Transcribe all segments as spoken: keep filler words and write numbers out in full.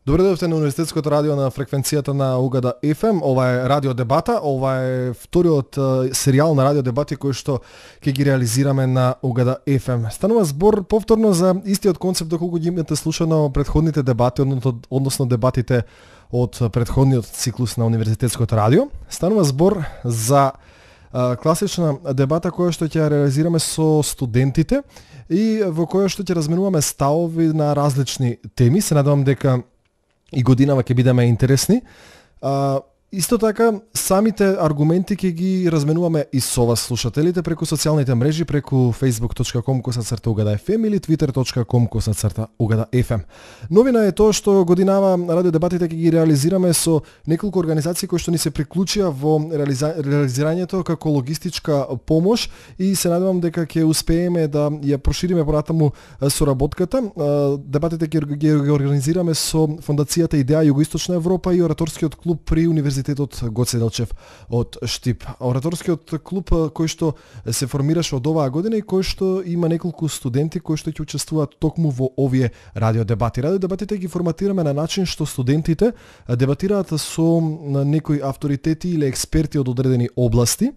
Добре дојдовте на Универзитетското радио на фреквенцијата на Угада еф ем. Ова е Радио Дебата. Ова е вториот серијал на Радио Дебати кој што ќе ги реализираме на Угада еф ем. Станува збор повторно за истиот концепт доколку ги имате слушано предходните дебати, односно дебатите од предходниот циклус на Универзитетското радио. Станува збор за а, класична дебата која што ќе реализираме со студентите и во која што ќе разменуваме ставови на различни теми. Се надевам дека и годинава ќе бидеме интересни. А, исто така, самите аргументи ќе ги разменуваме и со вас слушателите преку социјалните мрежи, преку facebook точка com косацрта угада еф ем или twitter точка com косацрта угада еф ем. Новина е тоа што годинава радио дебатите ќе ги реализираме со неколку организации кои што ни се приклучија во реализа... реализирањето како логистичка помош и се надевам дека ќе успееме да ја прошириме понатаму соработката. Дебатите ќе ги организираме со Фондацијата Идеја Југоисточна Европа и Ораторскиот клуб при Универзитетот Гоце Делчев од Штип. Ораторскиот клуб кој што се формираше од оваа година и кој што има неколку студенти кои што ќе учествуваат токму во овие радио дебати. Радио дебатите ги форматираме на начин што студентите дебатираат со некои авторитети или експерти од одредени области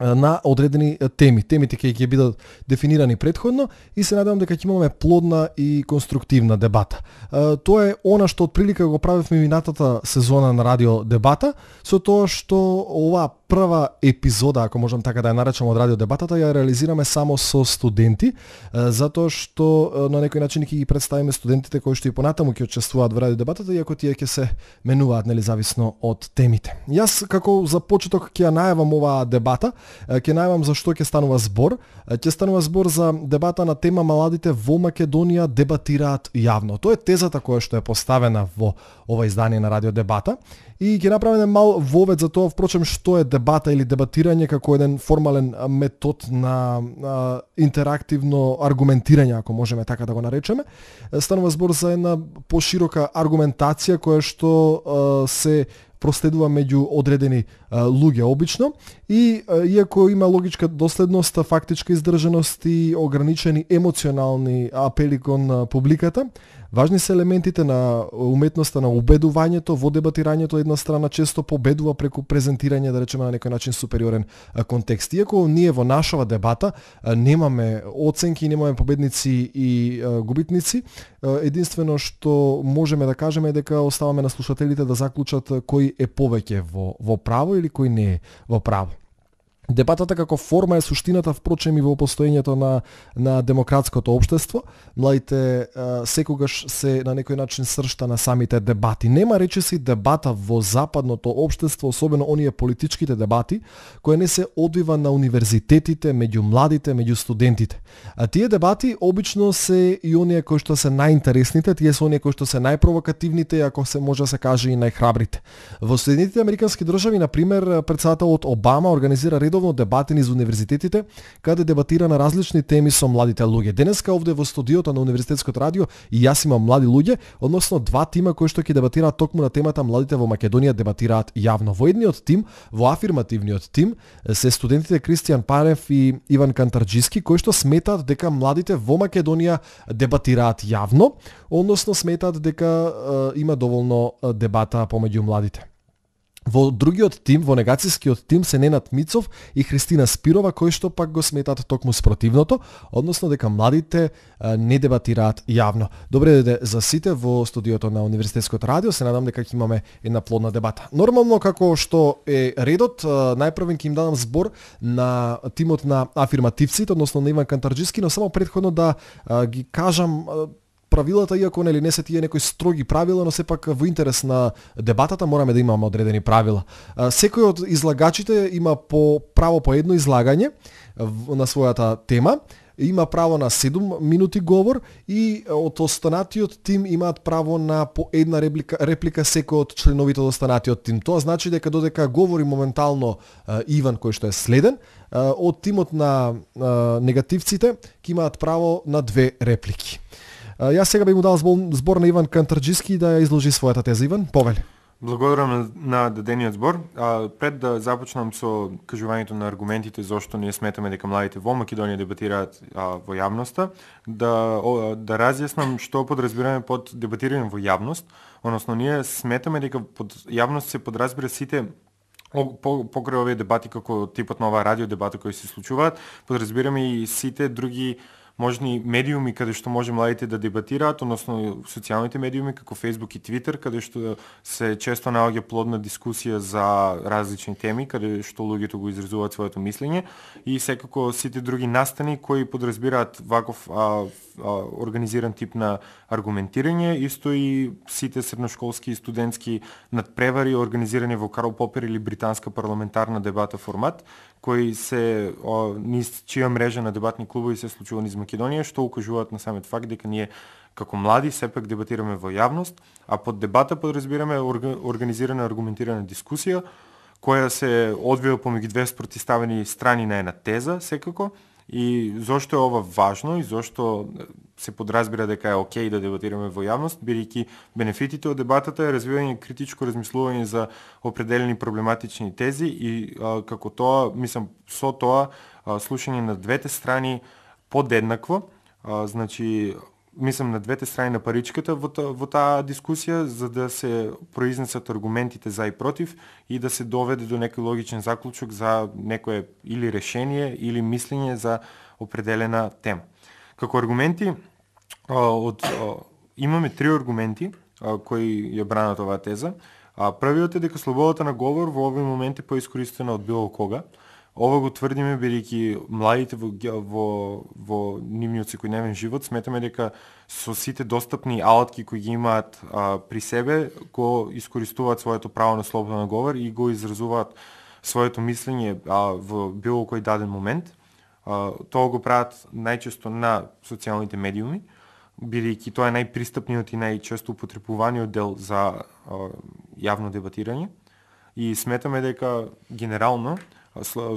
на одредени теми. Темите ќе ќе бидат дефинирани претходно и се надевам дека ќе имаме плодна и конструктивна дебата. Тоа е она што отприлика го правевме минатата сезона на радио дебата, со тоа што оваа прва епизода, ако можам така да ја наречам, од радио дебатата, ја реализираме само со студенти, затоа што на некој начин ќе ги представиме студентите кои што и понатаму ќе учествуваат во радио дебатата, иако тие ќе се менуваат независно од темите. Јас како за почеток ќе ја најавам оваа дебата, ќе најавам за што ќе станува збор. Ќе станува збор за дебата на тема младите во Македонија дебатираат јавно. Тоа е тезата која што е поставена во ова издание на радио дебата. И ќе направиме мал вовед за тоа, впрочем, што е дебата или дебатирање како еден формален метод на а, интерактивно аргументирање, ако можеме така да го наречеме. Станува збор за една поширока аргументација која што а, се проследува меѓу одредени а, луѓе обично и а, иако има логичка доследност, фактичка издржаност и ограничени емоционални апели кон а, публиката, важни се елементите на уметноста на убедувањето во дебатирањето. Една страна често победува преку презентирање, да речеме, на некој начин супериорен а, контекст. Иако ние во нашава дебата а, немаме оценки, немаме победници и а, губитници, а, единствено што можеме да кажеме е дека оставаме на слушателите да заклучат кој е повеќе во, во право или кој не е во право. Дебатата како форма е суштината, впрочем, и во постоењето на, на демократското општество. Младите а, секогаш се на некој начин сршта на самите дебати. Нема речиси дебата во западното општество, особено оние политичките дебати, кои не се одвива на универзитетите, меѓу младите, меѓу студентите. А тие дебати обично се и оние кои што се најинтересните, тие се оние кои што се најпровокативните, ако се може да се каже и најхрабрите. Во Соединетите американски држави, на пример, претседателот Обама организира редовно дебати низ универзитетите, каде дебатира на различни теми со младите луѓе. Денеска овде во студиото на Универзитетското радио и јас имам млади луѓе, односно два тима кои што ќе дебатираат токму на темата младите во Македонија дебатираат јавно. Во едниот тим, во афирмативниот тим, се студентите Кристијан Парев и Иван Кантарџиски, кои што сметаат дека младите во Македонија дебатираат јавно, односно сметаат дека е, има доволно дебата помеѓу младите. Во другиот тим, во негацијскиот тим, се Ненад Мицов и Христина Спирова, кои што пак го сметаат токму спротивното, односно дека младите а, не дебатираат јавно. Добре дојде за сите во студиото на Универзитетското радио, се надам дека ќе имаме една плодна дебата. Нормално, како што е редот, најпрвен ќе им дадам збор на тимот на афирмативците, односно на Иван Кантарџиски, но само претходно да а, ги кажам а, правилата, иако нели не се тие некои строги правила, но сепак во интерес на дебатата мораме да имаме одредени правила. Секој од излагачите има по право по едно излагање на својата тема, има право на седум минути говор и од останатиот тим имаат право на по една реплика, реплика секој од членовите од останатиот тим. Тоа значи дека додека говори моментално Иван, кој што е следен, од тимот на негативците ќе имаат право на две реплики. Јас сега би му дал збор на Иван Кантарџиски да ја изложи својата теза. Иван, повели. Благодарам на дадениот збор. А, пред да започнам со кажувањето на аргументите зошто ние сметаме дека младите во Македонија дебатираат а, во јавноста, да о, да разјаснам што подразбираме под дебатирање во јавност, односно ние сметаме дека под јавност се подразбира сите по, покрај овие дебати како типот на оваа радио дебата кои се случуваат, подразбираме и сите други можни медиуми каде што може младите да дебатираат, односно социјалните медиуми како Facebook и Twitter, каде што се често наоѓа плодна дискусија за различни теми, каде што луѓето го изразуваат своето мислење и секако сите други настани кои подразбираат ваков а, а, организиран тип на аргументирање, исто и сите средношколски и студентски надпревари организирани во Карл Попер или британска парламентарна дебата формат, кои се о, низ чија мрежа на дебатни клубови се случува низ Македонија, што укажуваат на самиот факт дека ние како млади сепак дебатираме во јавност, а под дебата подразбираме организирана аргументирана дискусија која се одвива помеѓу две спротивставени страни на една теза секако. И зошто е ова важно и зошто се подразбира дека е окей да дебатираме во јавност, бидејќи бенефитите од дебатата е развивање критичко размислување за определени проблематични тези и а, како тоа, мислам, со тоа а, слушање на двете страни подеднакво, а, значи мислам на двете страни на паричката во, во таа дискусија, за да се произнесат аргументите за и против и да се доведе до некој логичен заклучок за некое или решение или мислење за определена тема. Како аргументи, од, имаме три аргументи кои ја бранат оваа теза. Првиот е дека слободата на говор во овој момент е поискористена од било кога. Ова го тврдиме бидејќи младите во, во, во нивниот секојдневен живот сметаме дека со сите достапни алатки кои ги имаат а, при себе го искористуваат своето право на слобода на говор и го изразуваат своето мислење а, во било кој даден момент. А, тоа го прават најчесто на социјалните медиуми, бидејќи тоа е најпристапниот и најчесто употребуваниот дел за а, јавно дебатирање и сметаме дека генерално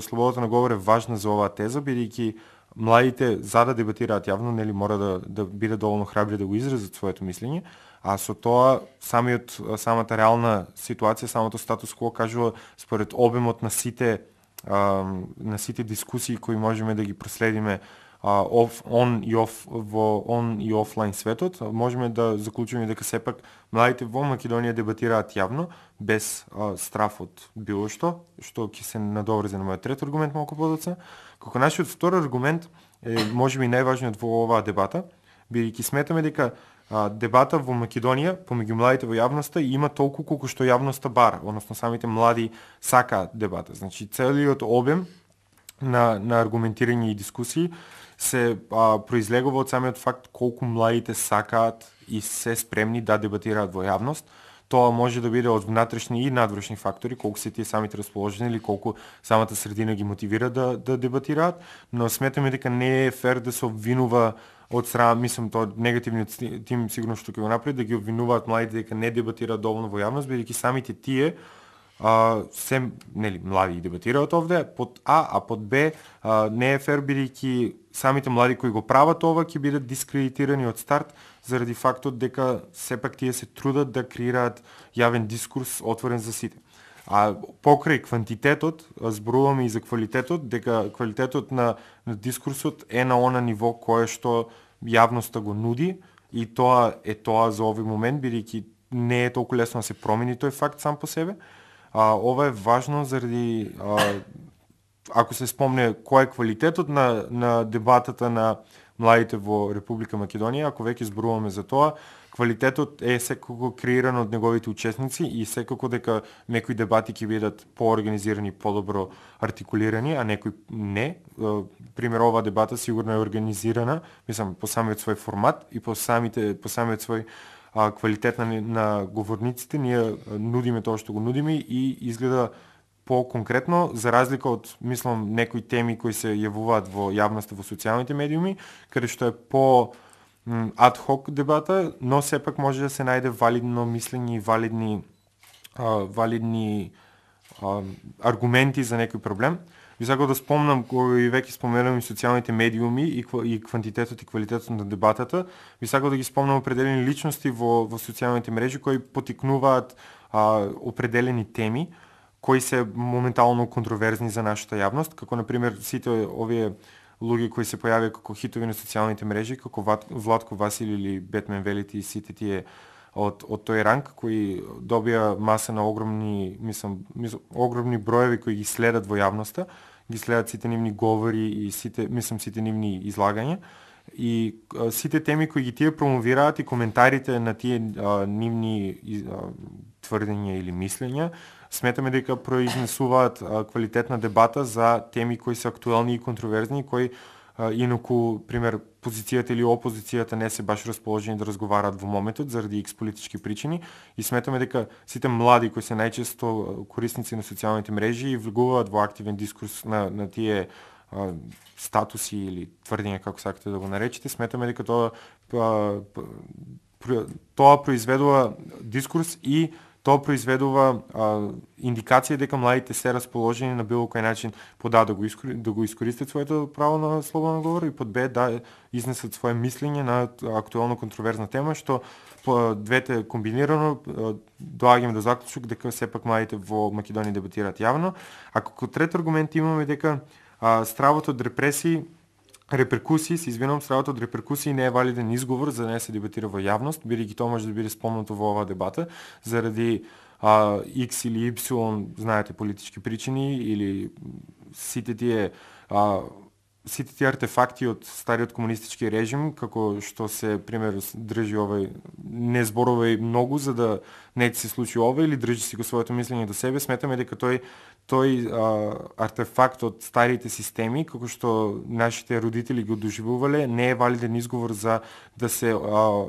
слободата на говор е важна за оваа теза, бидејќи младите за да дебатираат јавно, нели мора да да бидат доволно храбри да го изразат своето мислење, а со тоа самиот самата реална ситуација, самото статус кво кажува според обемот на сите а, на сите дискусии кои можеме да ги проследиме Uh, off, on и off во он и офлайн светот, можеме да заклучиме дека сепак младите во Македонија дебатираат јавно без uh, страф од било што, што ќе се надоврзе на мојот трет аргумент малку подоцна. Како нашиот втор аргумент е можеби најважниот во оваа дебата, бидејќи сметаме дека uh, дебата во Македонија помеѓу младите во јавноста има толку колку што јавноста бара, односно самите млади сакаат дебата. Значи целиот обем на на аргументирање и дискусии се а, произлегува од самиот факт колку младите сакаат и се спремни да дебатираат во јавност. Тоа може да биде од внатрешни и надвошни фактори, колку се тие самите расположени или колку самата средина ги мотивира да да дебатираат, но сметаме дека не е фер да се обвинува од страна, мислам тоа негативниот тим сигурно што ќе го направи, да ги обвинуваат младите дека не дебатираат доволно во јавност, бидејќи самите тие Uh, се нели млади дебатираат овде под А, а под Б uh, не е фер бидејќи самите млади кои го прават ова ќе бидат дискредитирани од старт заради фактот дека сепак тие се трудат да креираат јавен дискурс отворен за сите. А покрај квантитетот, зборуваме и за квалитетот, дека квалитетот на, на дискурсот е на она ниво кое што јавноста го нуди и тоа е тоа за овој момент бидејќи не е толку лесно да се промени тој факт сам по себе. А, ова е важно заради а, ако се спомне кој е квалитетот на, на дебатата на младите во Република Македонија, ако веќе зборуваме за тоа, квалитетот е секако креиран од неговите учесници и секако дека некои дебати ќе бидат поорганизирани, подобро артикулирани, а некои не. Пример, оваа дебата сигурно е организирана, мислам, по самиот свој формат и по самите по самиот свој а, квалитет на, на говорниците, ние нудиме тоа што го нудиме и изгледа по-конкретно, за разлика од, мислам, некои теми кои се јавуваат во јавноста во социјалните медиуми, каде што е по адхок дебата, но сепак може да се најде валидно мислење и валидни, а, валидни а, аргументи за некој проблем. Ви сакам да спомнам, кој веќе споменам и социјалните медиуми и, и квантитетот и квалитетот на дебатата, ви сакам да ги спомнам определени личности во, во социјалните мрежи кои потикнуваат а, определени теми кои се моментално контроверзни за нашата јавност, како на пример сите овие луѓе кои се појавија како хитови на социјалните мрежи, како Владко Васил или Бетмен Велити и сите тие од од тој ранг кои добија маса на огромни, мислам, мислам огромни броеви кои ги следат во јавноста, ги следат сите нивни говори и сите, мислам, сите нивни излагања и а, сите теми кои ги тие промовираат и коментарите на тие а, нивни а, тврдења или мислења, сметаме дека произнесуваат а, квалитетна дебата за теми кои се актуелни и контроверзни, кои а, инаку, пример, позицијата или опозицијата не се баш расположени да разговараат во моментот заради икс политички причини и сметаме дека сите млади кои се најчесто корисници на социјалните мрежи и влегуваат во активен дискурс на, на тие а, статуси или тврдења, како сакате да го наречете, сметаме дека тоа а, тоа произведува дискурс и тоа произведува а, индикација дека младите се расположени на било кој начин под А да го, искори, да го искористат своето право на слободна говор и под Б да изнесат свое мислење на актуелно контроверзна тема, што по двете комбинирано доаѓаме до заклучок дека сепак младите во Македонија дебатираат јавно. А како трет аргумент имаме дека а, стравот од репресии реперкусии, се извинувам, стравот од реперкусии не е валиден изговор за да не се дебатира во јавност, бидејќи тоа може да биде спомнато во оваа дебата заради а, X или Y, знаете, политички причини или сите тие а, сите тие артефакти од стариот комунистички режим, како што се пример држи овој не зборувај многу за да не се случи ова или држи си го своето мислење до себе, сметаме дека тој тој а, артефакт од старите системи, како што нашите родители го доживувале, не е валиден изговор за да се а,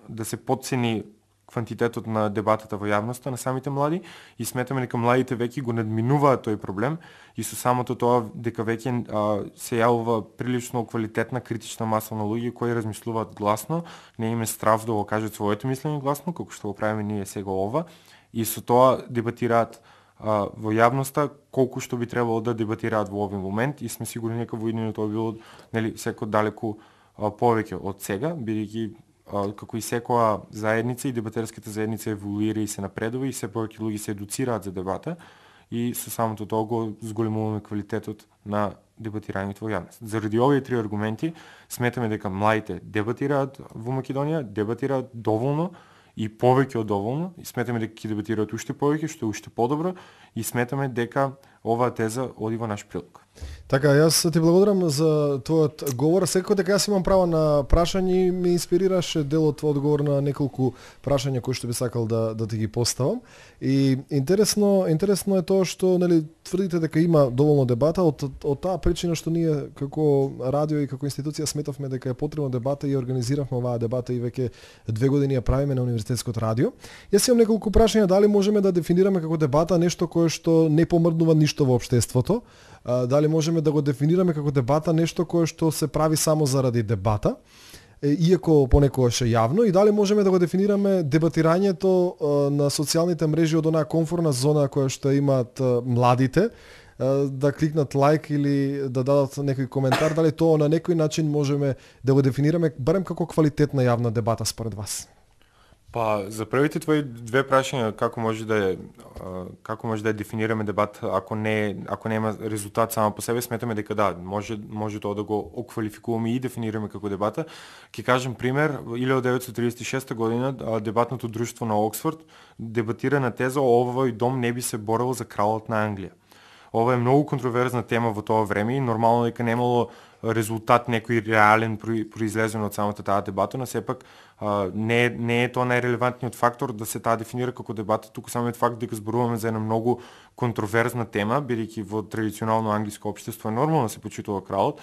да се потцени квантитетот на дебатата во јавноста на самите млади и сметаме дека младите веќе го надминуваат тој проблем и со самото тоа дека веќе а, се јавува прилично квалитетна критична маса на луѓе кои размислуваат гласно, не им е страв да го кажат своето мислење гласно, како што го правиме ние сега ова, и со тоа дебатираат а, во јавноста колку што би требало да дебатираат во овој момент и сме сигурни дека во иднина тоа било нели секој далеку а, повеќе од сега, бидејќи како и секоја заедница и дебатерската заедница еволуира и се напредува и се повеќе луѓе се едуцираат за дебата и со самото тоа го зголемуваме квалитетот на дебатирањето во јавност. Заради овие три аргументи сметаме дека младите дебатираат во Македонија, дебатираат доволно и повеќе од доволно и сметаме дека ќе дебатираат уште повеќе, што е уште подобро и сметаме дека оваа теза оди во наш прилог. Така, јас ти благодарам за твојот говор. Секако дека јас имам право на прашање и ме инспирираше дел од твојот одговор на неколку прашања кои што би сакал да да ти ги поставам. И интересно, интересно е тоа што нели тврдите дека има доволно дебата од од таа причина што ние како радио и како институција сметавме дека е потребна дебата и организиравме оваа дебата и веќе две години ја правиме на Универзитетското радио. Јас имам неколку прашања, дали можеме да дефинираме како дебата нешто кое што не помрднува ништо во општеството? Дали можеме да го дефинираме како дебата нешто кое што се прави само заради дебата, иако понекогаш е јавно, и дали можеме да го дефинираме дебатирањето на социјалните мрежи од онаа комфорна зона која што имаат младите, да кликнат лайк или да дадат некој коментар, дали тоа на некој начин можеме да го дефинираме барем како квалитетна јавна дебата според вас? Па, за првите твои две прашања, како може да е, како може да е дефинираме дебат ако не ако нема резултат само по себе, сметаме дека да, може може тоа да го оквалификуваме и дефинираме како дебата. Ќе кажем пример, илјадесет деветстотини триесет и шеста година дебатното друштво на Оксфорд дебатира на теза овој дом не би се борел за кралот на Англија. Ова е многу контроверзна тема во тоа време и нормално дека немало резултат некој реален произлезен од самата таа дебата, но сепак а, не, не е тоа најрелевантниот фактор да се таа дефинира како дебата, туку самиот факт дека зборуваме за една многу контроверзна тема, бидејќи во традиционално англиско општество е нормално да се почитува кралот,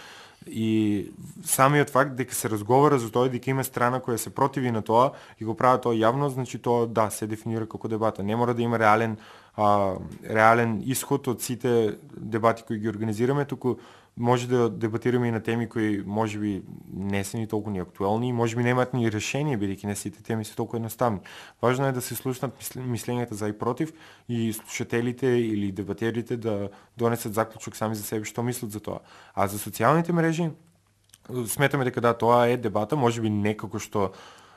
и самиот факт дека се разговара за тоа дека има страна која се противи на тоа и го прави тоа јавно, значи тоа да се дефинира како дебата. Не мора да има реален а, реален исход од сите дебати кои ги организираме, туку може да дебатираме и на теми кои можеби не се ни толку ни актуелни и можеби немаат ни решение, бидејќи не сите теми се толку едноставни. Важно е да се слушнат мислењата за и против и слушателите или дебатерите да донесат заклучок сами за себе што мислат за тоа. А за социјалните мрежи сметаме дека да, тоа е дебата, можеби не како што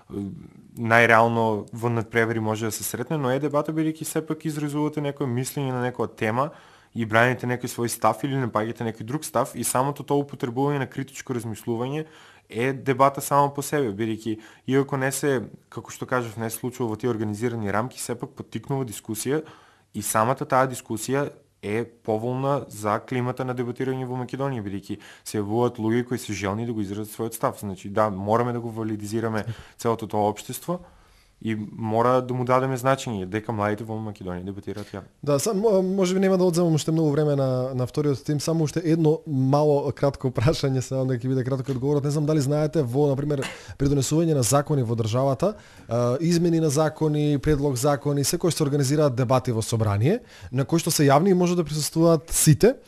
најреално во надпревари може да се сретне, но е дебата бидејќи сепак изразувате некој мислење на некоја тема и браните некој свој став или не паѓате некој друг став и самото тоа употребување на критичко размислување е дебата само по себе, бидејќи иако не се, како што кажав, не се случува во тие организирани рамки, сепак поттикнува дискусија и самата таа дискусија е поволна за климата на дебатирање во Македонија, бидејќи се јавуваат луѓе кои се желни да го изразат својот став. Значи, да, мораме да го валидизираме целото тоа општество и мора да му дадеме значење дека младите во Македонија дебатираат јавно. Да, сам, може би нема да одземам уште многу време на на вториот тим, само уште едно мало кратко прашање, се надам дека ќе биде кратко одговорот. Не знам дали знаете, во на пример при донесување на закони во државата, измени на закони, предлог закони, секој се организираат дебати во собрание, на кои што се јавни и може да присуствуваат сите.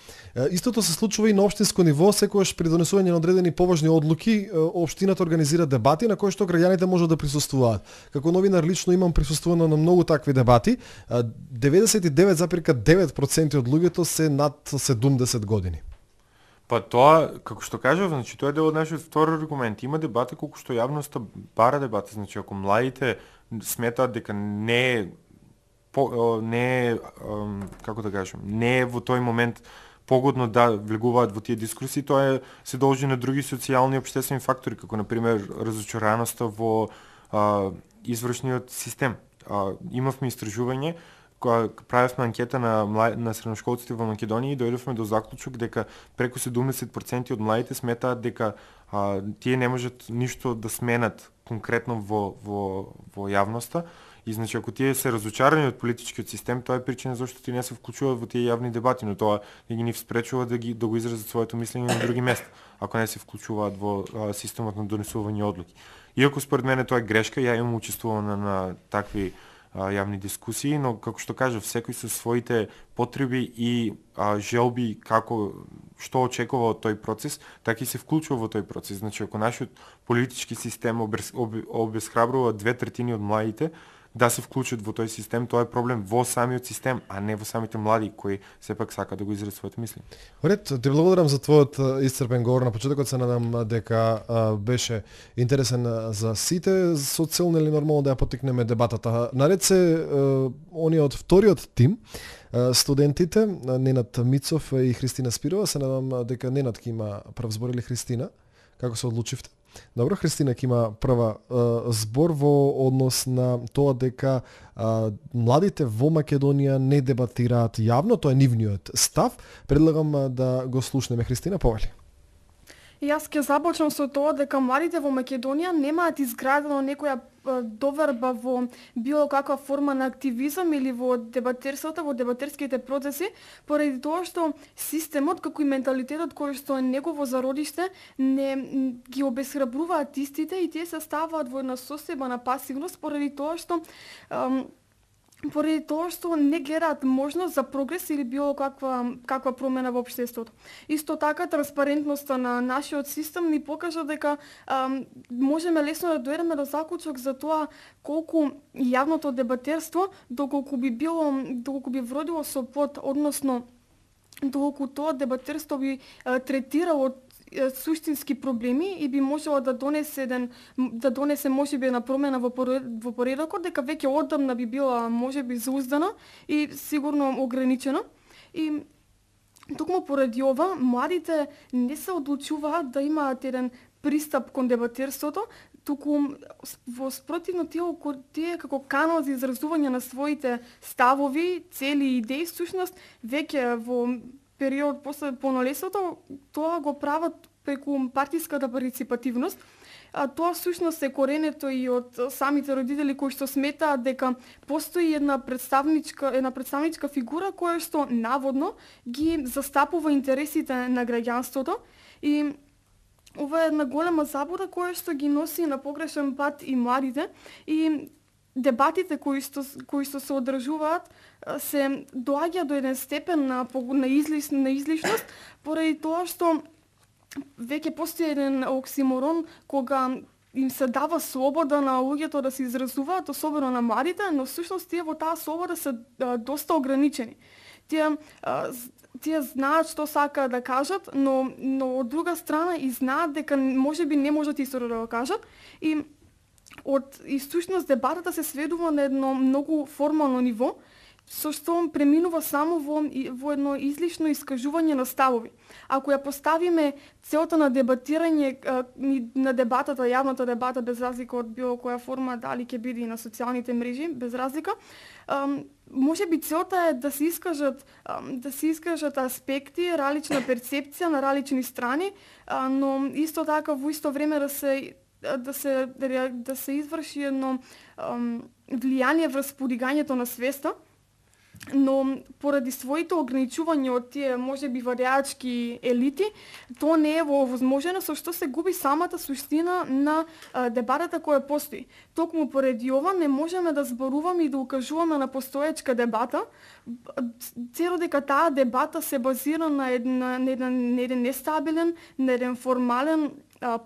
Истото се случува и на општинско ниво, секогаш при донесување на одредени поважни одлуки, општината организира дебати на кои што граѓаните можат да присуствуваат. Како новинар лично имам присуствувано на многу такви дебати. деветдесет и девет зарез девет проценти од луѓето се над седумдесет години. Па тоа, како што кажав, значи тоа е дел од нашиот втори аргумент. Има дебати колку што јавноста бара дебати, значи ако младите сметаат дека не е по, не е како да кажам, не е во тој момент погодно да влегуваат во тие дискусии, тоа е, се должи на други социјални и општествени фактори, како на пример разочараноста во а, извршниот систем. А, имавме истражување, кога правевме анкета на на средношколците во Македонија и дојдовме до заклучок дека преку седумдесет проценти од младите сметаат дека а, тие не можат ништо да сменат конкретно во во во јавноста. И значи ако тие се разочарани од политичкиот систем, тоа е причина зашто тие не се вклучуваат во тие јавни дебати, но тоа не ги ни спречува да ги да го изразат своето мислење на други места, ако не се вклучуваат во а, системот на донесување одлуки. Иако според мене тоа е грешка, ја имам учествувано на, на такви а, јавни дискусии, но како што кажав, секој со своите потреби и а, желби како што очекува од тој процес, така и се вклучува во тој процес. Значи ако нашиот политички систем обез, об, обезхрабрува две третини од младите да се вклучат во тој систем, тоа е проблем во самиот систем, а не во самите млади кои сепак сакаат да го изразат своето мисли. Ред, ти благодарам за твојот исцрпен говор на почетокот, се надам дека а, беше интересен за сите, со цел нели нормално да ја поттикнеме дебатата. Наред се а, оние од вториот тим, а, студентите Ненад Мицов и Христина Спирова, се надам дека Ненад ќе има прв збор или Христина, како се одлучивте? Добро, Христина ќе има прва е, збор во однос на тоа дека е, младите во Македонија не дебатираат јавно, тоа е нивниот став. Предлагам е, да го слушнеме. Христина, повели. Јас ќе започнам со тоа дека младите во Македонија немаат изградено некоја доверба во било каква форма на активизам или во дебатерството, во дебатерските процеси, поради тоа што системот како и менталитетот кој што е негово зародиште не ги обесхрабруваат истите и тие се ставаат во една состојба на пасивност поради тоа што ам, поради тоа што не гледаат можност за прогрес или било каква каква промена во општеството. Исто така транспарентноста на нашиот систем ни покажа дека ам, можеме лесно да дојдеме до заклучок за тоа колку јавното дебатерство доколку би било доколку би вродило со плод, односно доколку тоа дебатерство би а, третирало суштински проблеми и би можело да донесе еден да донесе можеби една промена во во поредокот, дека веќе одамна би била можеби зауздана и сигурно ограничена. И токму поради ова младите не се одлучуваат да имаат еден пристап кон дебатерството, туку во спротивно тие, тие како канал за изразување на своите ставови, цели и идеи, всушност веќе во период после полнолетството тоа го прават преку партиската парticipативност. А тоа всушност е коренето и од самите родители кои што сметаат дека постои една представничка една представничка фигура која што наводно ги застапува интересите на граѓанството и ова е една голема заблуда која што ги носи на погрешен пат и младите и дебатите кои што кои што се одржуваат се доаѓа до еден степен на на, излиш, на излишност поради тоа што веќе постои еден оксиморон кога им се дава слобода на луѓето да се изразуваат, особено на младите, но всушност тие во таа слобода се а, доста ограничени. Тие а, тие знаат што сакаат да кажат, но но од друга страна и знаат дека можеби не можат исто да го кажат и од и всушност дебатата се сведува на едно многу формално ниво, со што преминува само во, во едно излишно искажување на ставови. Ако ја поставиме целта на дебатирање, на дебатата, јавната дебата, без разлика од било која форма, дали ќе биде и на социјалните мрежи, без разлика, може би целта е да се искажат да се искажат аспекти, различна перцепција на различни страни, но исто така во исто време да се да се да се изврши едно влијание врз подигањето на свеста, но поради своите ограничувања од тие можеби варјачки елити, тоа не е возможно, со што се губи самата суштина на а, дебатата која постои. Токму поради ова не можеме да зборуваме и да укажуваме на постоечка дебата, цело дека таа дебата се базира на еден, на еден, на еден нестабилен, на еден формален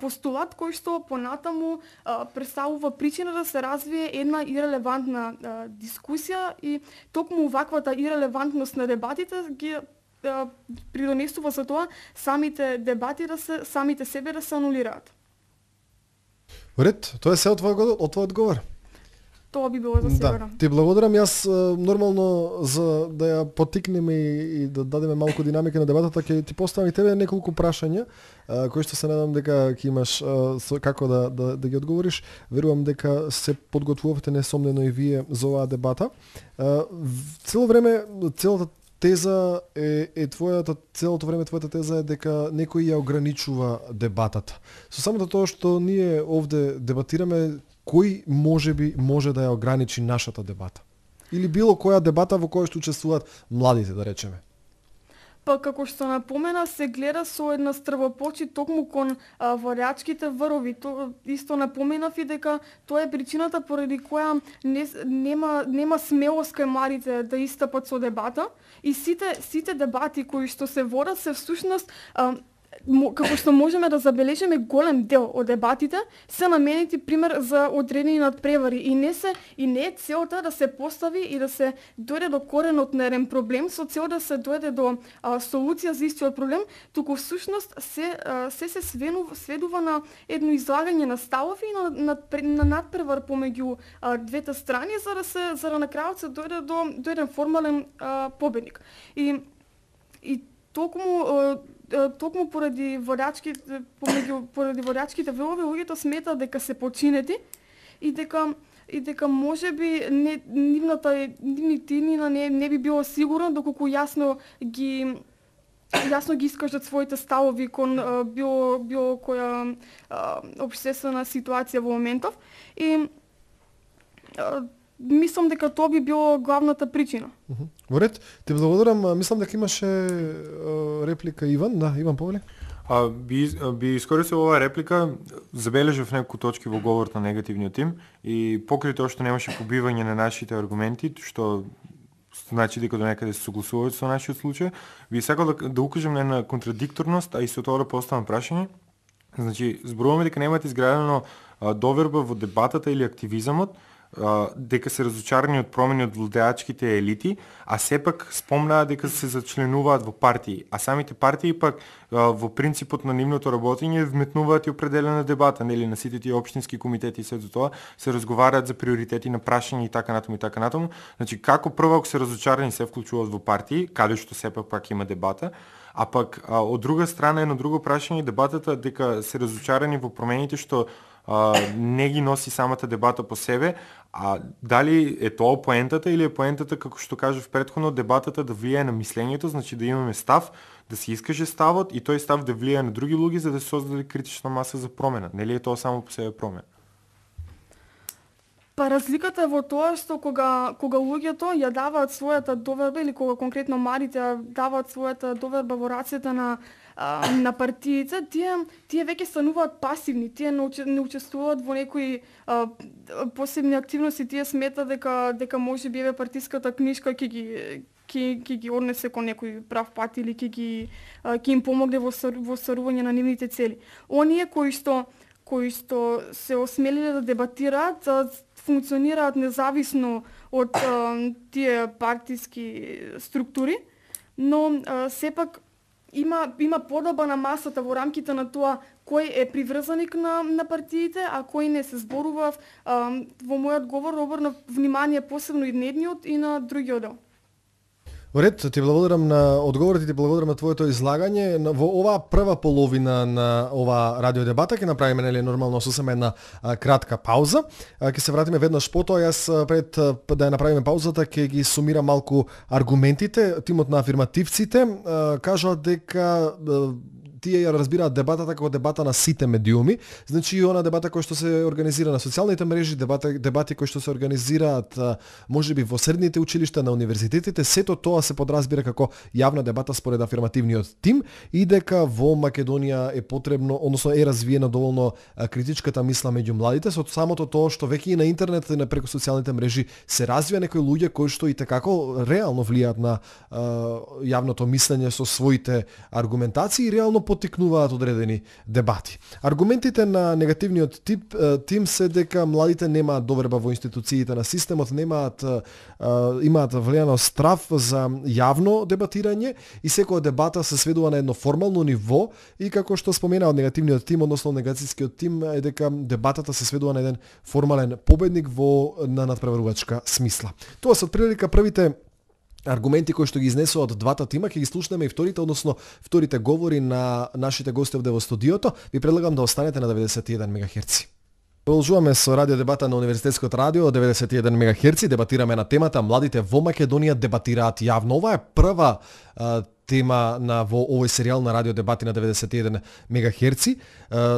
постулат кој што понатаму а, представува причина да се развие една ирелевантна а, дискусија и токму ваквата ирелевантност на дебатите ги а, придонесува за тоа самите дебати да се самите себе да се анулираат. Ред, тоа е се од твојот од твојот одговор. Тоа би било за сега. Да, ти благодарам. Јас нормално за да ја потикнеме и, и да дадеме малку динамика на дебатата, ќе ти поставам и тебе неколку прашања, кои што се надам дека ќе имаш а, со, како да, да, да ги одговориш. Верувам дека се подготвувавте несомнено и вие за оваа дебата. А, цело време, целата теза е, е твојата, целото време твојата теза е дека некој ја ограничува дебатата. Со самото тоа што ние овде дебатираме, кој можеби може да ја ограничи нашата дебата? Или било која дебата во која што учествуваат младите, да речеме? Па како што напомена, се гледа со една стрвопочит токму кон а, варјачките врвови. То исто напоменав и дека тоа е причината поради која не, нема нема смелост кај младите да истапат со дебата и сите сите дебати кои што се водат се всушност а, како што можеме да забележиме, голем дел од дебатите се наменети пример за одредени надпревари и не се и не е целта да се постави и да се дојде до коренот на еден проблем со цел да се дојде до а, солуција за истиот проблем, туку всушност се а, се се сведува, сведува на едно излагање на ставови и на, на, на надпревар помеѓу а, двете страни за да се за да на крајот се дојде до до еден формален а, победник. И и токму а, токму поради водачките помеѓу поради водачките велови луѓето сметаат дека се починети и дека и дека можеби не нивната нивните нивна не не би било сигурно доколку јасно ги јасно ги искажат своите ставови кон а, било било која а, општествена ситуација во моментов и а, мислам дека тоа би било главната причина. Во ред, ти благодарам. Мислам дека имаше реплика Иван. Да, Иван повели. А, би, би искористил оваа реплика, забележав неколку точки во говорот на негативниот тим и покрај тоа што немаше побивање на нашите аргументи, што значи дека до некаде се согласуваат со нашиот случај, би сакал да, да укажам на една контрадикторност, а и со тоа да поставам прашање. Значи, зборуваме дека немате изградено а, доверба во дебатата или активизамот, дека се разочарани од промени од владеачките елити, а сепак спомнаа дека се зачленуваат во партии, а самите партии пак во принципот на нивното работење вметнуваат и определена дебата, нели на сите тие општински комитети и се за тоа се разговараат за приоритети на прашања и така натаму и така натаму. Значи како прво ако се разочарани се вклучуваат во партии, каде што сепак пак има дебата, а пак а, од друга страна едно друго прашање дебатата дека се разочарани во промените што а, не ги носи самата дебата по себе, а дали е тоа поентата или е поентата како што кажав претходно дебатата да влијае на мислењето, значи да имаме став, да се искаже ставот и тој став да влијае на други луѓе за да се создаде критична маса за промена. Нели е тоа само по себе промена? Па разликата е во тоа што кога кога луѓето ја даваат својата доверба или кога конкретно младите ја даваат својата доверба во рацете на а, на партиите, тие тие веќе стануваат пасивни, тие не, не учествуваат во некои а, посебни активности, тие сметаат дека дека можеби еве партиската книжка ќе ги ќе ќе ги однесе кон некој прав пат или ќе ги ќе им помогне во во стварување на нивните цели. Оние кои што кои што се осмелиле да дебатираат, функционираат независно од а, тие партиски структури, но а, сепак има има поделба на масата во рамките на тоа кој е приврзаник на на партиите, а кој не. Се зборува во мојот говор обрнав внимание посебно и на едниот и на другиот дел. Во ред, ти благодарам на одговорите, ти благодарам на твоето излагање. Во оваа прва половина на ова радио дебата ќе направиме нели нормално сосема една а, кратка пауза. А, ќе се вратиме веднаш потоа. Јас пред да ја направиме паузата ќе ги сумирам малку аргументите. Тимот на афирмативците а, кажаат дека а, тие ја разбираат дебатата како дебата на сите медиуми, значи и она дебата која што се организира на социјалните мрежи, дебата, дебати кои што се организираат можеби во средните училишта, на универзитетите, сето тоа се подразбира како јавна дебата според афирмативниот тим и дека во Македонија е потребно, односно е развиена доволно критичката мисла меѓу младите, со самото тоа што веќе и на интернет и на преку социјалните мрежи се развија некои луѓе кои што и tekako реално влијаат на а, јавното мислење со своите аргументации и реално потикнуваат одредени дебати. Аргументите на негативниот тип тим се дека младите немаат доверба во институциите на системот, немаат имаат влијано страв за јавно дебатирање и секоја дебата се сведува на едно формално ниво и како што спомена од негативниот тим, односно негацијскиот тим е дека дебатата се сведува на еден формален победник во на надпреварувачка смисла. Тоа се отприлика првите аргументи кои што ги изнесува од двата тима, ќе ги слушнеме и вторите, односно вторите говори на нашите гости овде во студиото. Ви предлагам да останете на деветдесет и еден мегахерци. Продолжуваме со радио дебата на Универзитетското радио деветдесет и еден мегахерци. Дебатираме на темата младите во Македонија дебатираат јавно. Ова е прва а, тема на во овој серијал на радио дебати на деветдесет и еден мегахерци.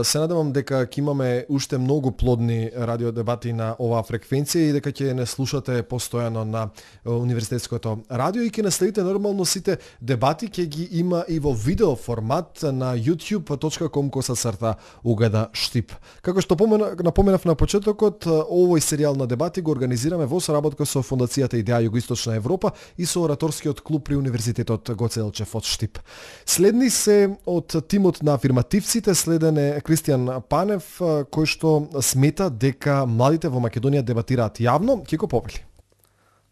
Се надевам дека ќе имаме уште многу плодни радио дебати на оваа фреквенција и дека ќе не слушате постојано на Универзитетското радио и ќе наследите нормално сите дебати, ќе ги има и во видео формат на youtube точка com коса црта угада штип. Како што напоменав на почетокот, овој серијал на дебати го организираме во соработка со Фондацијата Идеја Југоисточна Европа и со ораторскиот клуб при Универзитетот Гоце Делчев од Штип. Следни се од тимот на афирмативците, следен е Кристијан Панев, кој што смета дека младите во Македонија дебатираат јавно. Ќе го повели.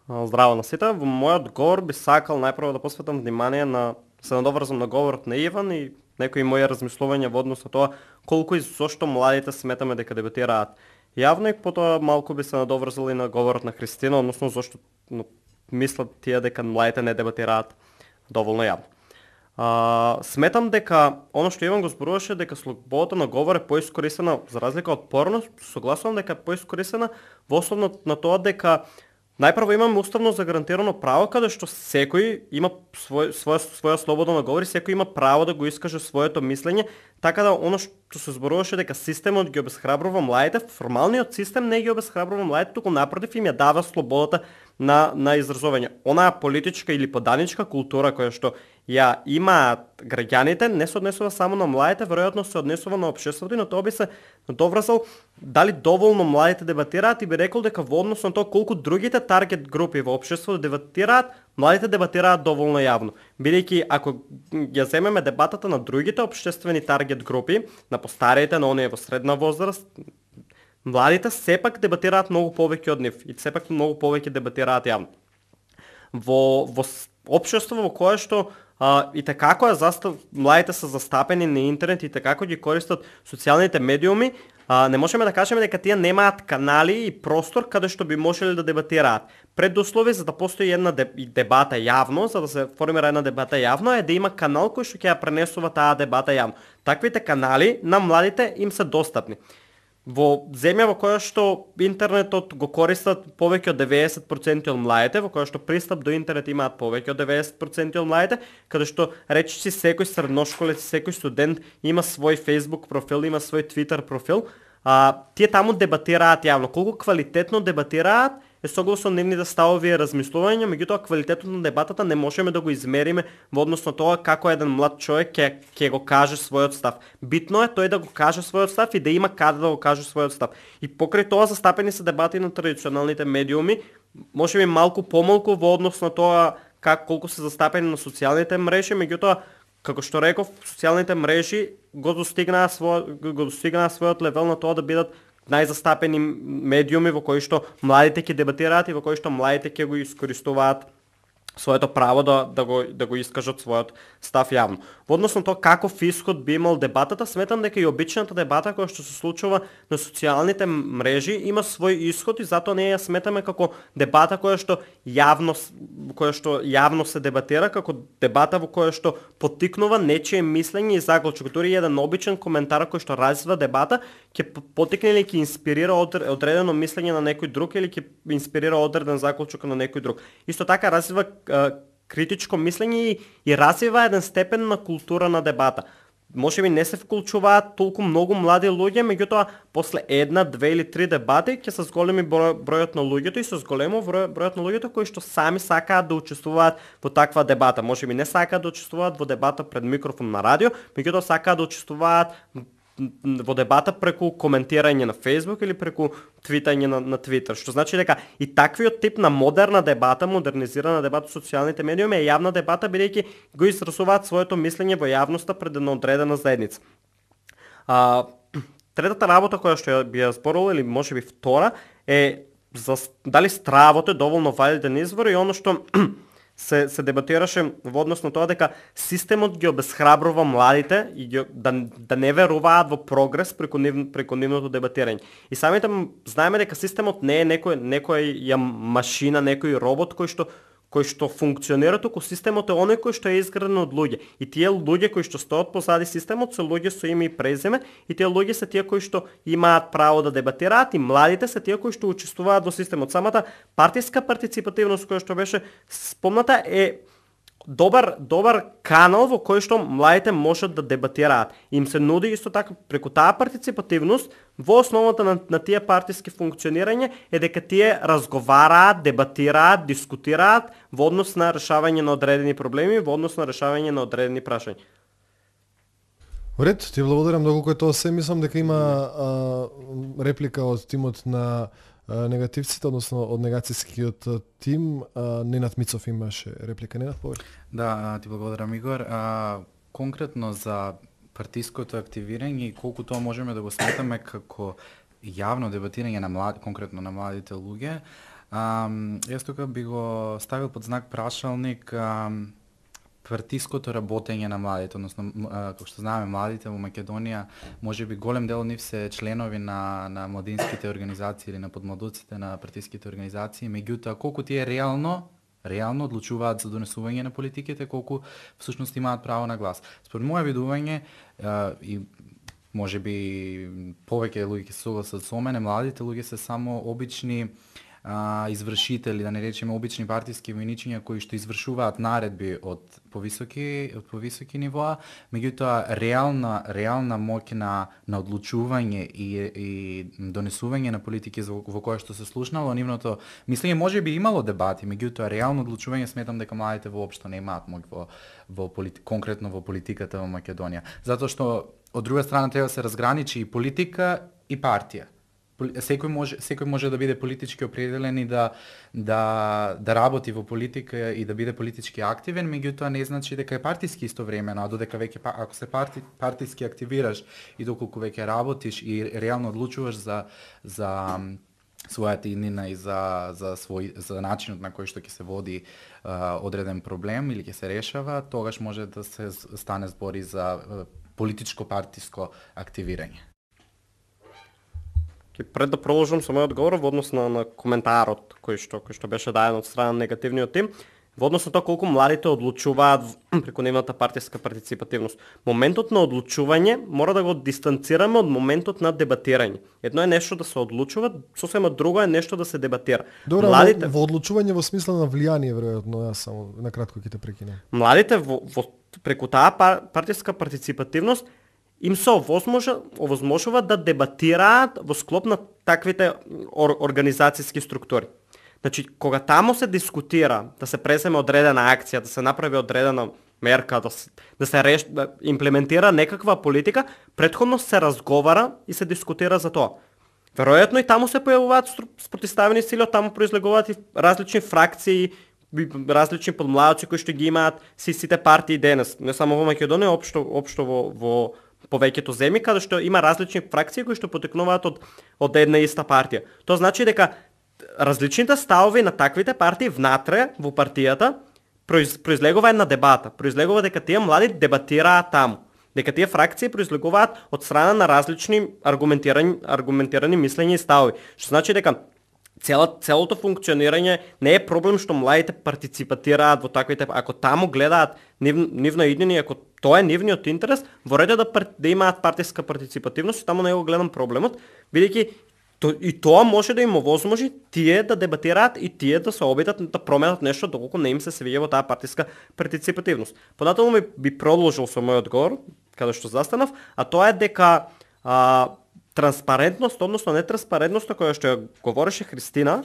Здраво на сите. Во мојот говор би сакал најпрво да посветам внимание на се надоврзам на говорот на Иван и некои мои размислувања во однос на тоа колку и зошто младите сметаме дека дебатираат јавно и потоа малку би се надоврзал и на говорот на Христина, односно зошто ну, мислат тие дека младите не дебатираат доволно јавно. А, сметам дека оно што Иван го зборуваше дека слободата на говор е поискористена за разлика од порно, согласувам дека е поискористена во основно на тоа дека најпрво имаме уставно загарантирано право каде што секој има свој, своја, своја слобода на говор и секој има право да го искаже своето мислење, така да оно што се зборуваше дека системот ги обесхрабрува младите, формалниот систем не ги обесхрабрува младите, туку напротив им ја дава слободата на на изразување. Онаа политичка или поданичка култура која што ја имаат граѓаните не се однесува само на младите, веројатно се однесува на општеството и на тоа би се доврзал дали доволно младите дебатираат и би рекол дека во однос на тоа колку другите таргет групи во општеството дебатираат, младите дебатираат доволно јавно. Бидејќи ако ја земеме дебатата на другите општествени таргет групи, на постариите, на оние во средна возраст, младите сепак дебатираат многу повеќе од нив и сепак многу повеќе дебатираат јавно. Во во општество во кое што а, и tekako е застав младите се застапени на интернет и tekako ги користат социјалните медиуми, а, не можеме да кажеме дека тие немаат канали и простор каде што би можеле да дебатираат. Предуслови за да постои една дебата јавно, за да се формира една дебата јавно е да има канал кој што ќе ја пренесува таа дебата јавно. Таквите канали на младите им се достапни. Во земја во која што интернетот го користат повеќе од деветдесет проценти од младите, во која што пристап до интернет имаат повеќе од деветдесет проценти од младите, каде што речиси секој средношколец, секој студент има свој Facebook профил, има свој Twitter профил, а, тие таму дебатираат јавно. Колку квалитетно дебатираат е согласно нивните ставови и размислувања, меѓутоа квалитетот на дебатата не можеме да го измериме во однос на тоа како еден млад човек ќе ќе го каже својот став. Битно е тој да го каже својот став и да има каде да го каже својот став. И покрај тоа застапени се дебати на традиционалните медиуми, можеби малку помалку во однос на тоа как колку се застапени на социјалните мрежи, меѓутоа како што реков, социјалните мрежи го достигнаа свој го достигнаа својот левел на тоа да бидат најзастапени медиуми во кои што младите ќе дебатираат и во кои што младите ќе го искористуваат своето право да, да, го, да го искажат својот став јавно. Во однос на тоа каков исход би имал дебатата, сметам дека и обичната дебата која што се случува на социјалните мрежи има свој исход и затоа не ја сметаме како дебата која што јавно која што јавно се дебатира, како дебата во која што поттикнува нечие мислење и заклучок. Дури еден обичен коментар кој што развива дебата ќе поттикне или ќе инспирира одредено мислење на некој друг или ќе инспирира одреден заклучок на некој друг. Исто така развива критичко мислење и, и развива еден степен на култура на дебата. Може би не се вклучуваат толку многу млади луѓе, меѓутоа после една, две или три дебати ќе се зголеми број, бројот на луѓето и се зголемо број, бројот на луѓето кои што сами сакаат да учествуваат во таква дебата. Може би не сакаат да учествуваат во дебата пред микрофон на радио, меѓутоа сакаат да учествуваат во дебата преку коментирање на Facebook или преку твитање на, на Twitter, што значи дека и таквиот тип на модерна дебата, модернизирана дебата со социјалните медиуми е јавна дебата, бидејќи го изразуваат своето мислење во јавноста пред една одредена заедница. А, третата работа која што би ја зборувал, или можеби втора, е за дали стравото е доволно валиден извор и оно што се се дебатираше во однос на тоа дека системот ги обесхрабрува младите и ги, да да не веруваат во прогрес преку нив, преку нивното дебатирање. И самите знаеме дека системот не е некој некоја машина, некој робот кој што кој што функционира, туку системот е оној кој што е изграден од луѓе. И тие луѓе кои што стоат позади системот се луѓе со име и презиме, и тие луѓе се тие кои што имаат право да дебатираат и младите се тие кои што учествуваат во системот. Самата партиска партиципативност која што беше спомната е добар добар канал во кој што младите можат да дебатираат. Им се нуди исто така преку таа партиципативност во основата на, на тие партиски функционирање е дека тие разговараат, дебатираат, дискутираат во однос на решавање на одредени проблеми, во однос на решавање на одредени прашања. Ред, ти благодарам многу кој тоа се. Мислам дека има а, реплика од тимот на негативците, односно од негацијскиот тим. Ненад Мицов имаше реплика. Ненад, повеќе. Да, ти благодарам, Игор. А, конкретно за партиското активирање и колку тоа можеме да го сметаме како јавно дебатирање на млади, конкретно на младите луѓе, а, јас тука би го ставил под знак прашалник а, партиското работење на младите, односно како што знаеме младите во Македонија, можеби голем дел од нив се членови на на младинските организации или на подмладуците на партиските организации, меѓутоа колку тие реално реално одлучуваат за донесување на политиките, колку всушност имаат право на глас. Според моја видување и можеби повеќе луѓе ќе се согласат со мене, младите луѓе се само обични а, извршители, да не речеме обични партиски војничиња кои што извршуваат наредби од повисоки од повисоки нивоа, меѓутоа реална реална моќ на на одлучување и и донесување на политики во, во која што се слушнало нивното мислење, можеби имало дебати, меѓутоа реално одлучување сметам дека младите воопшто не имаат моќ во во полит, конкретно во политиката во Македонија, затоа што од друга страна треба да се разграничи и политика и партија. Секој може секој може да биде политички определен и да да да работи во политика и да биде политички активен, меѓутоа не значи дека е партиски истовремено, а додека веќе ако се парти, партиски активираш и доколку веќе работиш и реално одлучуваш за за својата иднина и за за свој за начинот на кој што ќе се води а, одреден проблем или ќе се решава, тогаш може да се стане збори за политичко партиско активирање. Пред да продолжам со мојот одговор во однос на, на коментарот кој што кој што беше даден од страна на негативниот тим, во однос на тоа колку младите одлучуваат преку нивната партиска партиципативност. Моментот на одлучување мора да го дистанцираме од моментот на дебатирање. Едно е нешто да се одлучува, сосема друго е нешто да се дебатира. Добро, младите во одлучување во смисла на влијание веројатно, јас само на кратко ќе те прекинам. Младите во, во преку таа партиска партиципативност им се овозможува да дебатираат во склоп на таквите ор, организацијски структури. Значи, кога тамо се дискутира, да се преземе одредена акција, да се направи одредена мерка, да се, да се реш, да имплементира некаква политика, претходно се разговара и се дискутира за тоа. Веројатно и тамо се појавуваат спротивставени сили, од тамо произлегуваат и различни фракции, различни подмладоци кои што ги имаат сите партии денес, не само во Македонија, општо општо во во повеќето земји каде што има различни фракции кои што потекнуваат од од една иста партија. Тоа значи дека различните ставови на таквите партии внатре во партијата произ, произлегува една дебата, произлегува дека тие млади дебатираат таму, дека тие фракции произлегуваат од страна на различни аргументирани аргументирани мислења и ставови, што значи дека Цела, целото функционирање не е проблем што младите партиципатираат во таквите, ако таму гледаат нив, нивно иднини, ако тоа е нивниот интерес, во ред да, да имаат партиска партиципативност, таму не го гледам проблемот, бидејќи то, и тоа може да им овозможи тие да дебатираат и тие да се обидат да променат нешто доколку не им се свиѓа во таа партиска партиципативност. Понатаму би, би продолжил со мојот одговор, каде што застанав, а тоа е дека а, транспарентност, односно нетранспарентноста која што ја говореше Христина,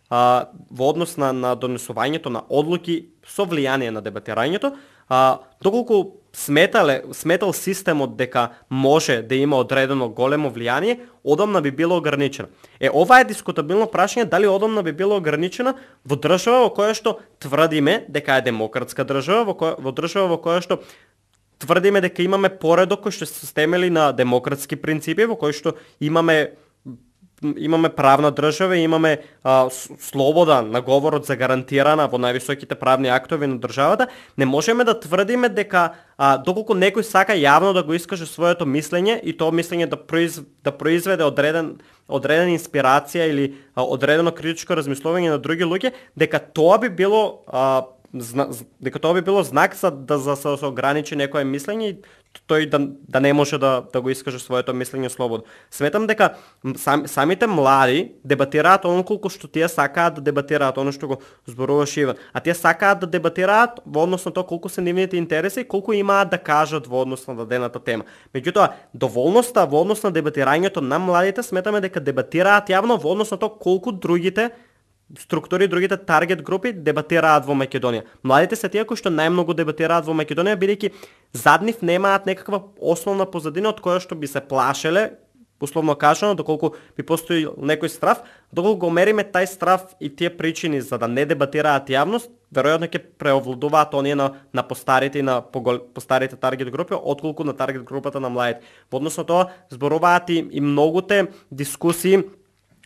а, во однос на, на донесувањето на одлуки со влијание на дебатирањето, а, доколку сметале, сметал системот дека може да има одредено големо влијание, одамна би било ограничена. Е, ова е дискутабилно прашање дали одамна би било ограничена во држава во која што тврдиме дека е демократска држава, во, која, во држава во која што тврдиме дека имаме поредок кој што се стемели на демократски принципи, во кој што имаме имаме правна држава, имаме а, слобода на говорот загарантирана во највисоките правни актови на државата, не можеме да тврдиме дека а, доколку некој сака јавно да го искаже своето мислење и тоа мислење да, произ, да произведе одреден одредена инспирација или а, одредено критичко размислување на други луѓе, дека тоа би било а, Зна, дека тоа би било знак за да за, за, за ограничи некое мислење и тој да, да не може да, да го искаже своето мислење слободно. Сметам дека сам, самите млади дебатираат оно колку што тие сакаат да дебатираат, оно што го зборуваше Иван. А тие сакаат да дебатираат во однос на тоа колку се нивните интереси и колку имаат да кажат во однос на дадената тема. Меѓутоа, доволноста во однос на дебатирањето на младите сметаме дека дебатираат јавно во однос на тоа колку другите структури, другите таргет групи дебатираат во Македонија. Младите се тие кои што најмногу дебатираат во Македонија, бидејќи зад нив немаат некаква основна позадина од која што би се плашеле, условно кажано, доколку би постои некој страв, доколку го мериме тај страв и тие причини за да не дебатираат јавност, веројатно ќе преовладуваат оние на, на постарите и на погол, постарите таргет групи, отколку на таргет групата на младите. Во однос на тоа зборуваат и, и многуте дискусии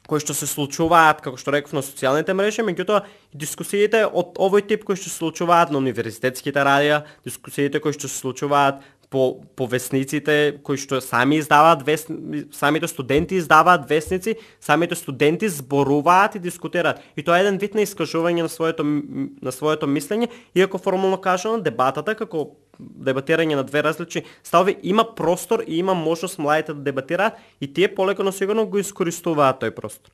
кои што се случуваат, како што реков, на социјалните мрежи, меѓутоа дискусиите од овој тип кои што се случуваат на универзитетските радија, дискусиите кои што се случуваат по, по весниците, кои што сами издаваат весни, самите студенти издаваат весници, самите студенти зборуваат и дискутираат. И тоа е еден вид на искажување на своето на своето мислење, иако формално кажано дебатата како дебатирање на две различни ставови има простор и има можност младите да дебатираат и тие полека но сигурно го искористуваат тој простор.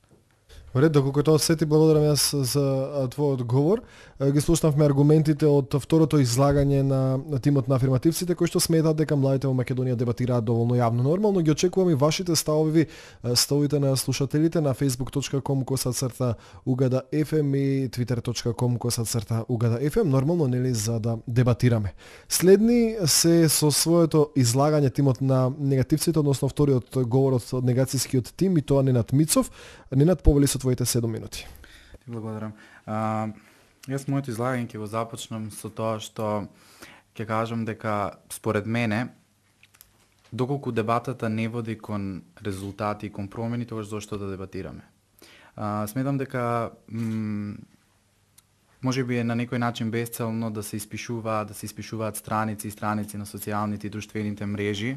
Во ред, доколку тоа се ти благодарам јас за твојот говор. Ги слушнавме аргументите од второто излагање на, на тимот на афирмативците кои што сметаат дека младите во Македонија дебатираат доволно јавно. Нормално ги очекувам и вашите ставови, ставовите на слушателите на facebook точка com косацрта угада еф ем и twitter точка com косацрта угада еф ем, нормално нели за да дебатираме. Следни се со своето излагање тимот на негативците, односно вториот говорот од негацијскиот тим и тоа Ненад Мицов. Ненад, повели со твоите седум минути. Ти благодарам. А, јас моето излагање ќе го започнам со тоа што ќе кажам дека според мене доколку дебатата не води кон резултати и кон промени, тогаш зошто да дебатираме. А, сметам дека м, може би е на некој начин безцелно да се испишуваат, да се испишуваат страници и страници на социјалните и друштвените мрежи,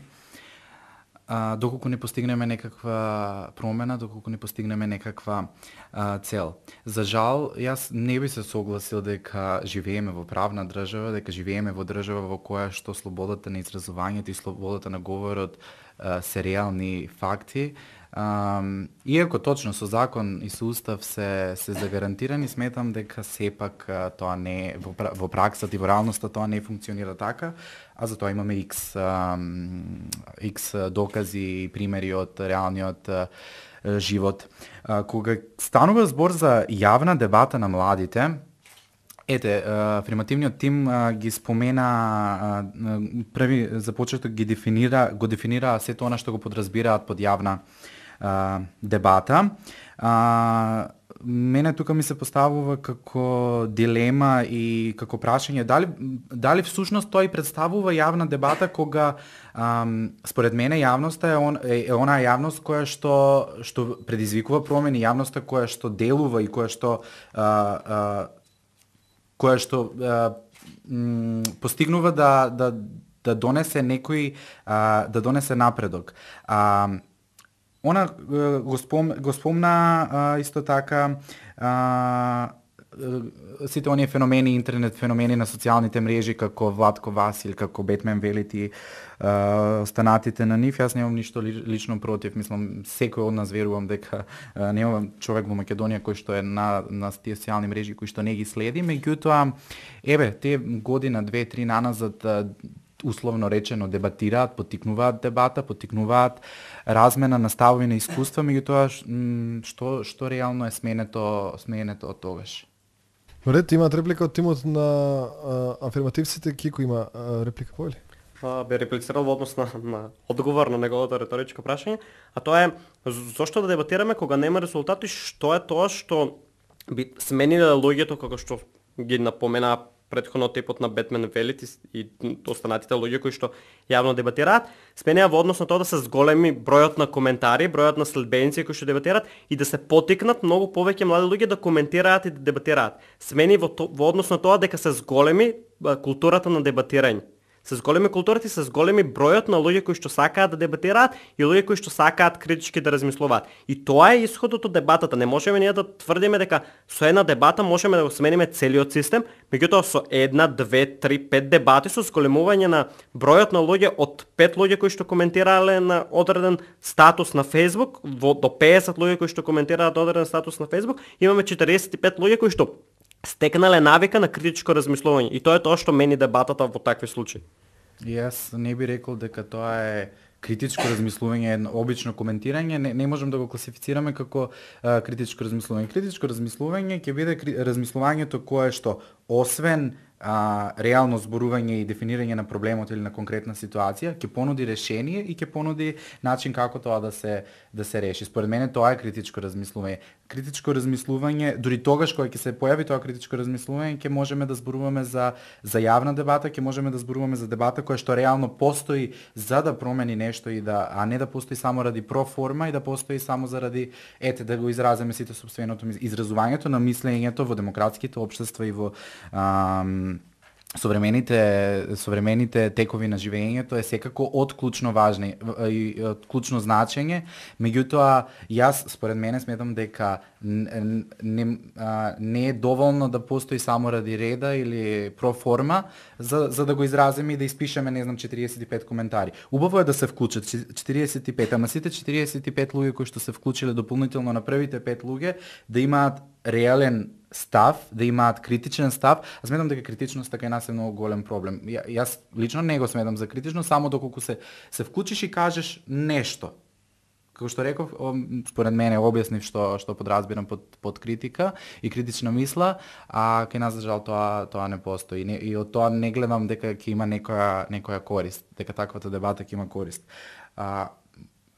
а, доколку не постигнеме некаква промена, доколку не постигнеме некаква а, цел. За жал, јас не би се согласил дека живееме во правна држава, дека живееме во држава во која што слободата на изразувањето и слободата на говорот а, се реални факти. Um, иако точно со закон и со устав се се загарантирани, сметам дека сепак тоа не во, во праксата и во реалноста тоа не функционира така, а за тоа имаме X um, X докази и примери од реалниот uh, живот. Uh, кога станува збор за јавна дебата на младите, ете, афирмативниот тим ги спомена, први започеток ги дефинира, го дефинира сето она што го подразбираат под јавна а, дебата. А, мене тука ми се поставува како дилема и како прашање дали дали всушност тоа и представува јавна дебата кога ам, според мене јавноста е, он, е, е онаа јавност која што што предизвикува промени, јавноста која што делува и која што а, а, која што а, м, постигнува да да да донесе некој а, да донесе напредок. А, она го, спом, го спомна а, исто така а, сите оние феномени, интернет феномени на социјалните мрежи, како Владко Васил, како Бетмен Велити, uh, останатите на нив. Јас немам ништо лично против, мислам, секој од нас верувам дека uh, немам човек во Македонија кој што е на, на тие социјални мрежи, кој што не ги следи, меѓутоа, еве, те година, две, три наназад, uh, условно речено дебатираат, поттикнуваат дебата, поттикнуваат размена на ставови на искуства, меѓутоа што што реално е сменето сменето од тогаш. Ред, имаат реплика од тимот на а, афирмативците, Кико има а, реплика по или? А, бе реплицирал во однос на, на одговор на неговото реторичко прашање, а тоа е зошто да дебатираме кога нема резултати, што е тоа што би смениле луѓето како што ги напомена претходно типот на Бетмен Велит и останатите луѓе кои што јавно дебатираат, сменија во однос на тоа да се зголеми бројот на коментари, бројот на следбеници кои што дебатираат и да се потикнат многу повеќе млади луѓе да коментираат и да дебатираат. Смени во, то, во однос на тоа дека се зголеми културата на дебатирање. Се зголеми културата и се зголеми бројот на луѓе кои што сакаат да дебатираат и луѓе кои што сакаат критички да размислуваат. И тоа е исходот од дебатата. Не можеме ние да тврдиме дека со една дебата можеме да го смениме целиот систем, меѓутоа со една, две, три, пет дебати со зголемување на бројот на луѓе од пет луѓе кои што коментирале на одреден статус на Facebook во, до песет луѓе кои што коментираат одреден статус на Facebook, имаме четириесет и пет луѓе кои што стекнале навика на критичко размислување. И тоа е тоа што мени дебатата во такви случаи. Јас не би рекол дека тоа е критичко размислување, обично коментирање, не, не можем да го класифицираме како а, критичко размислување. Критичко размислување ќе биде кри, размислувањето кое што освен а, реално зборување и дефинирање на проблемот или на конкретна ситуација, ќе понуди решение и ќе понуди начин како тоа да се да се реши. Според мене тоа е критичко размислување. Критичко размислување, дури тогаш кога ќе се појави тоа критичко размислување, ќе можеме да зборуваме за за јавна дебата, ќе можеме да зборуваме за дебата која што реално постои за да промени нешто и да а не да постои само ради проформа и да постои само заради ете да го изразиме сите сопственото изразувањето на мислењето во демократските општества и во ам, современите современите текови на живењето е секако од клучно важни и од клучно значење, меѓутоа јас според мене сметам дека не, не, а, не е доволно да постои само ради реда или проформа за за да го изразиме и да испишеме не знам четириесет и пет коментари. Убаво е да се вклучат четириесет и пет, ама сите четириесет и пет луѓе кои што се вклучиле дополнително на првите пет луѓе да имаат реален став, да имаат критичен став. Аз сметам дека критичноста кај нас е многу голем проблем. Ја, јас лично не го сметам за критично, само доколку се се вклучиш и кажеш нешто. Како што реков, според мене објаснив што што подразбирам под под критика и критична мисла, а кај нас за жал тоа тоа не постои. Не, и од тоа не гледам дека ќе има некоја некоја корист, дека таквата дебата ќе има корист. А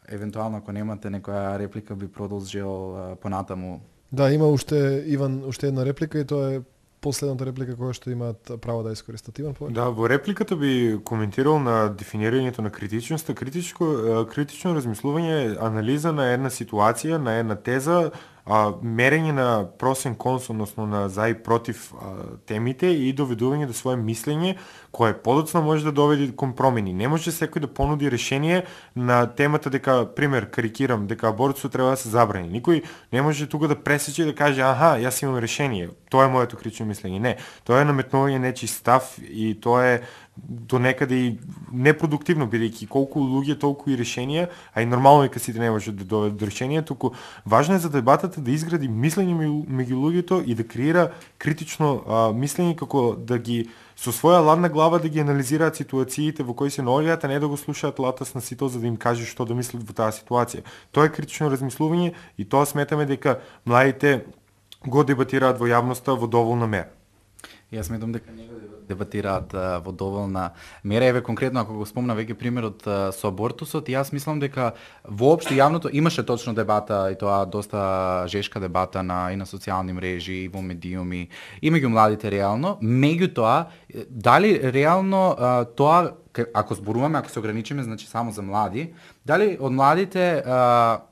евентуално ако немате некоја реплика би продолжил понатаму. Да, има уште Иван уште една реплика и тоа е последната реплика која што имаат право да искористат. Иван, повеќе? Да, во репликата би коментирал на дефинирањето на критичноста. Критичко критично размислување е анализа на една ситуација, на една теза, а, мерење на просен конс, односно на за и против а, темите и доведување до свое мислење кое подоцна може да доведе кон промени. Не може секој да понуди решение на темата дека, пример, карикирам, дека абортусот треба да се забрани. Никој не може тука да пресече и да каже аха, јас имам решение. Тоа е моето критично мислење. Не, тоа е наметнување нечи став и тоа е до некаде и непродуктивно, бидејќи колку луѓе толку и решенија, а и нормално е кога сите не може да доведат до решение, туку важно е за дебатата да изгради мислење меѓу луѓето и да креира критично а, мислење како да ги со своја ладна глава да ги анализираат ситуациите во кои се наоѓаат, а не да го слушаат латас на сито за да им каже што да мислат во таа ситуација. Тоа е критично размислување и тоа сметаме дека младите го дебатираат во јавноста во доволна мера. Јас сметам дека не го дебатираат а, во доволна мера. Еве конкретно ако го спомна веќе примерот а, со абортусот, јас мислам дека воопшто јавното имаше точно дебата и тоа доста жешка дебата на и на социјални мрежи и во медиуми и меѓу младите реално. Меѓутоа, дали реално а, тоа ако зборуваме, ако се ограничиме значи само за млади, дали од младите а,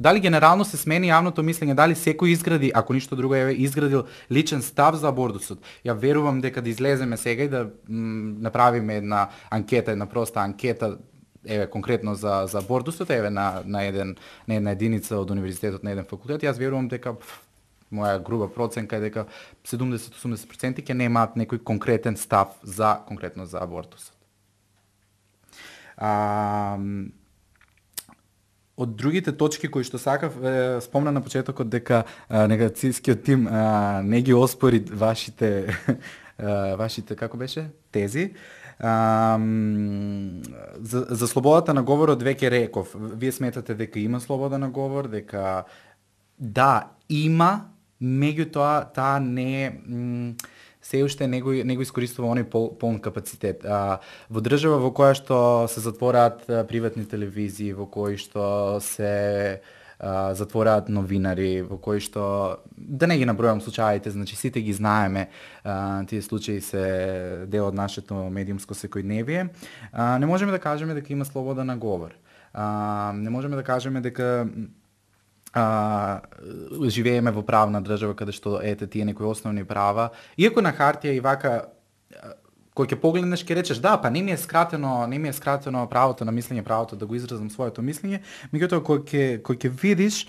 Дали генерално се смени јавното мислење, дали секој изгради, ако ништо друго е изградил личен став за абортусот. Ја верувам дека да излеземе сега и да м, направиме една анкета, една проста анкета, еве конкретно за за абортусот, еве на на еден на една единица од универзитетот на еден факултет, јас верувам дека пф, моја груба проценка е дека седумдесет до осумдесет проценти ќе немаат некој конкретен став за конкретно за абортусот. А, од другите точки кои што сакав, е, спомна на почетокот дека а, негацијскиот тим а, не ги оспори вашите а, вашите како беше тези. А, за, за слободата на говорот веќе реков. Вие сметате дека има слобода на говор, дека да, има, меѓутоа таа не м, се уште не го, не го искористува оној пол, полн капацитет. А, во држава во која што се затвораат а, приватни телевизии, во кои што се а, затвораат новинари, во кои што, да не ги набројам случаите, значи сите ги знаеме, а, тие случаи се дел од нашето медиумско секојдневие, а, не можеме да кажеме дека има слобода на говор. А, не можеме да кажеме дека а, живееме во правна држава каде што ете тие некои основни права, иако на хартија и вака кој ќе погледнеш ќе речеш да, па не ми е скратено, не ми е скратено правото на мислење, правото да го изразам своето мислење, меѓутоа кој ќе кој ќе видиш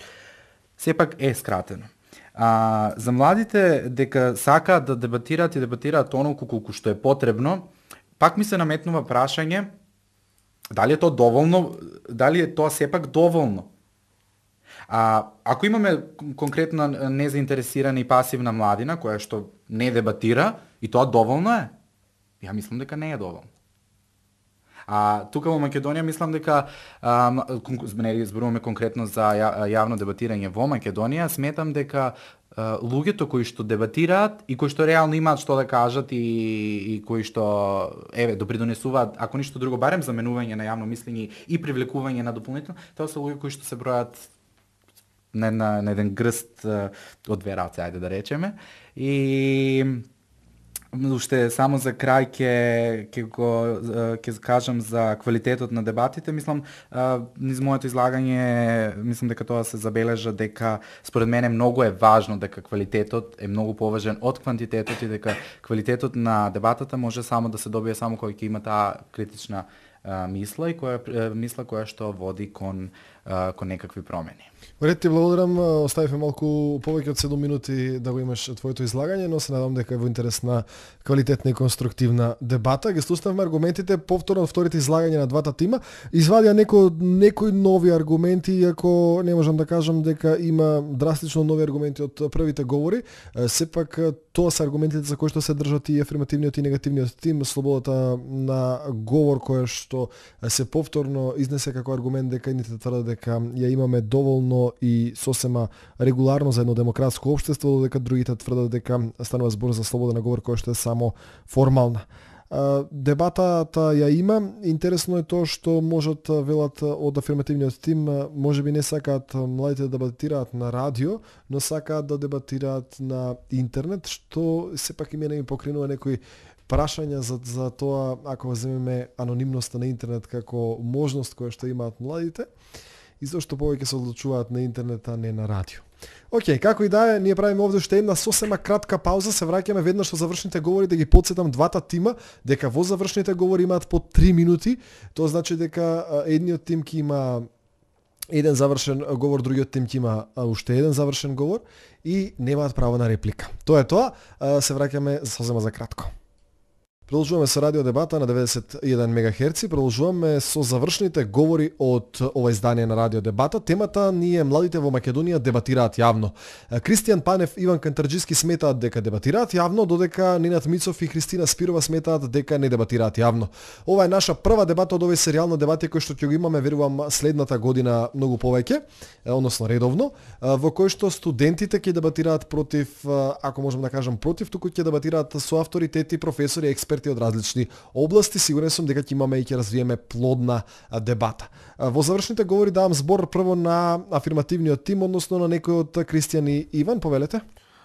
сепак е скратено. А, за младите дека сакаат да дебатираат и дебатираат онолку колку што е потребно, пак ми се наметнува прашање дали е тоа доволно, дали е тоа сепак доволно. А, ако имаме конкретно незаинтересирана и пасивна младина која што не дебатира, и тоа доволно е? Ја мислам дека не е доволно. А тука во Македонија мислам дека а, не зборуваме конкретно за ја, јавно дебатирање во Македонија, сметам дека а, луѓето кои што дебатираат и кои што реално имаат што да кажат и, и кои што еве допридонесуваат, ако ништо друго, барем заменување на јавно мислење и привлекување на дополнително, тоа се луѓе кои што се бројат на, на, на еден грст uh, од две раце, ајде да речеме. И уште само за крај ќе ќе го ќе кажам за квалитетот на дебатите. Мислам, низ моето излагање, мислам дека тоа се забележа дека според мене многу е важно дека квалитетот е многу поважен од квантитетот и дека квалитетот на дебатата може само да се добие само кога ќе има таа критична а, мисла и која мисла која што води кон а, кон некакви промени. Ред ти благодарам, оставивме малку повеќе од седум минути да го имаш твоето излагање, но се надам дека е во интерес на квалитетна и конструктивна дебата. Ги слушнавме аргументите повторно од вторите излагања на двата тима. Извадија некои некои нови аргументи, иако не можам да кажам дека има драстично нови аргументи од првите говори. Сепак тоа се аргументите за кои што се држат и афирмативниот и негативниот тим, слободата на говор која што се повторно изнесе како аргумент дека едните тврдат дека ја имаме доволно и сосема регуларно за едно демократско општество, додека другите тврдат дека станува збор за слобода на говор која што е само формална. Дебатата ја има. Интересно е тоа што можат велат од афирмативниот тим, можеби не сакаат младите да дебатираат на радио, но сакаат да дебатираат на интернет, што сепак и мене ми покринува некои прашања за, за тоа ако земеме анонимноста на интернет како можност која што имаат младите и зашто повеќе се одлучуваат на интернет, а не на радио. Океј, како и да е, ние правиме овде уште една сосема кратка пауза, се враќаме веднаш со завршните говори да ги потсетам двата тима дека во завршните говори имаат по три минути, тоа значи дека едниот тим ќе има еден завршен говор, другиот тим ќе има уште еден завршен говор и немаат право на реплика. Тоа е тоа, се враќаме сосема за кратко. Продолжуваме со радио дебата на деветдесет и еден мегахерци, продолжуваме со завршните говори од ова издание на радио дебата. Темата ни е младите во Македонија дебатираат јавно. Кристијан Панев и Иван Кантарџиски сметаат дека дебатираат јавно, додека Ненад Мицов и Христина Спирова сметаат дека не дебатираат јавно. Ова е наша прва дебата од овој серијал на дебати кој што ќе го имаме, верувам, следната година многу повеќе, односно редовно, во кој што студентите ќе дебатираат против, ако можам да кажам против, туку ќе дебатираат со авторитети, професори, експерти од различни области. Сигурен сум дека ќе имаме и ќе развиеме плодна дебата. Во завршните говори давам збор прво на афирмативниот тим, односно на некој од Кристијан и Иван, повелете.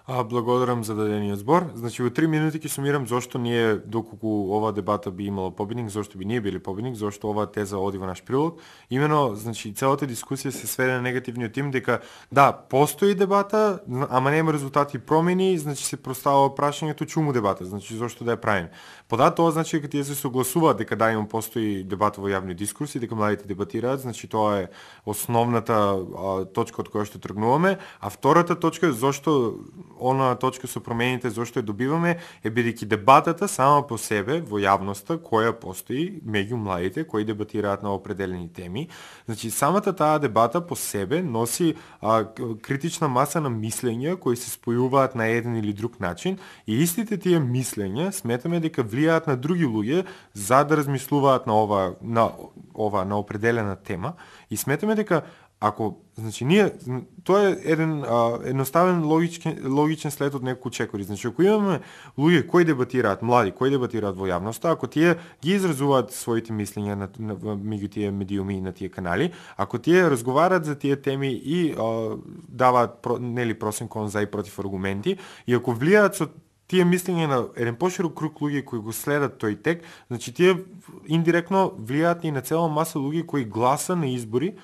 А, благодарам за дадениот збор. Значи во три минути ќе сумирам зошто ние, доколку ова дебата би имала победник, зошто би ние били победник, зошто оваа теза оди во наш прилог. Имено, значи целата дискусија се сведе на негативниот тим дека да, постои дебата, ама нема резултати и промени, значи се простава прашањето чуму дебата, значи зошто да ја правиме. Подат тоа значи дека тие се согласуваат дека да има постои дебата во јавни дискурси, дека младите дебатираат, значи тоа е основната а, точка од која што тргнуваме, а втората точка е зошто она точка со промените зошто ја добиваме е бидејќи дебатата сама по себе во јавноста која постои меѓу младите кои дебатираат на определени теми. Значи самата таа дебата по себе носи а, критична маса на мислења кои се спојуваат на еден или друг начин и истите тие мислења сметаме дека влијаат на други луѓе за да размислуваат на ова на ова на определена тема и сметаме дека ако, значи, ние, тоа е еден а, едноставен логичен, логичен след од неколку чекори. Значи, ако имаме луѓе кои дебатираат, млади, кои дебатираат во јавноста, ако тие ги изразуваат своите мислења на, на, меѓу тие медиуми и на тие канали, ако тие разговараат за тие теми и а, даваат, про, нели, просен кон за и против аргументи, и ако влијаат со тие мислења на еден поширок круг луѓе кои го следат тој тек, значи тие индиректно влијаат и на цела маса луѓе кои гласа на избори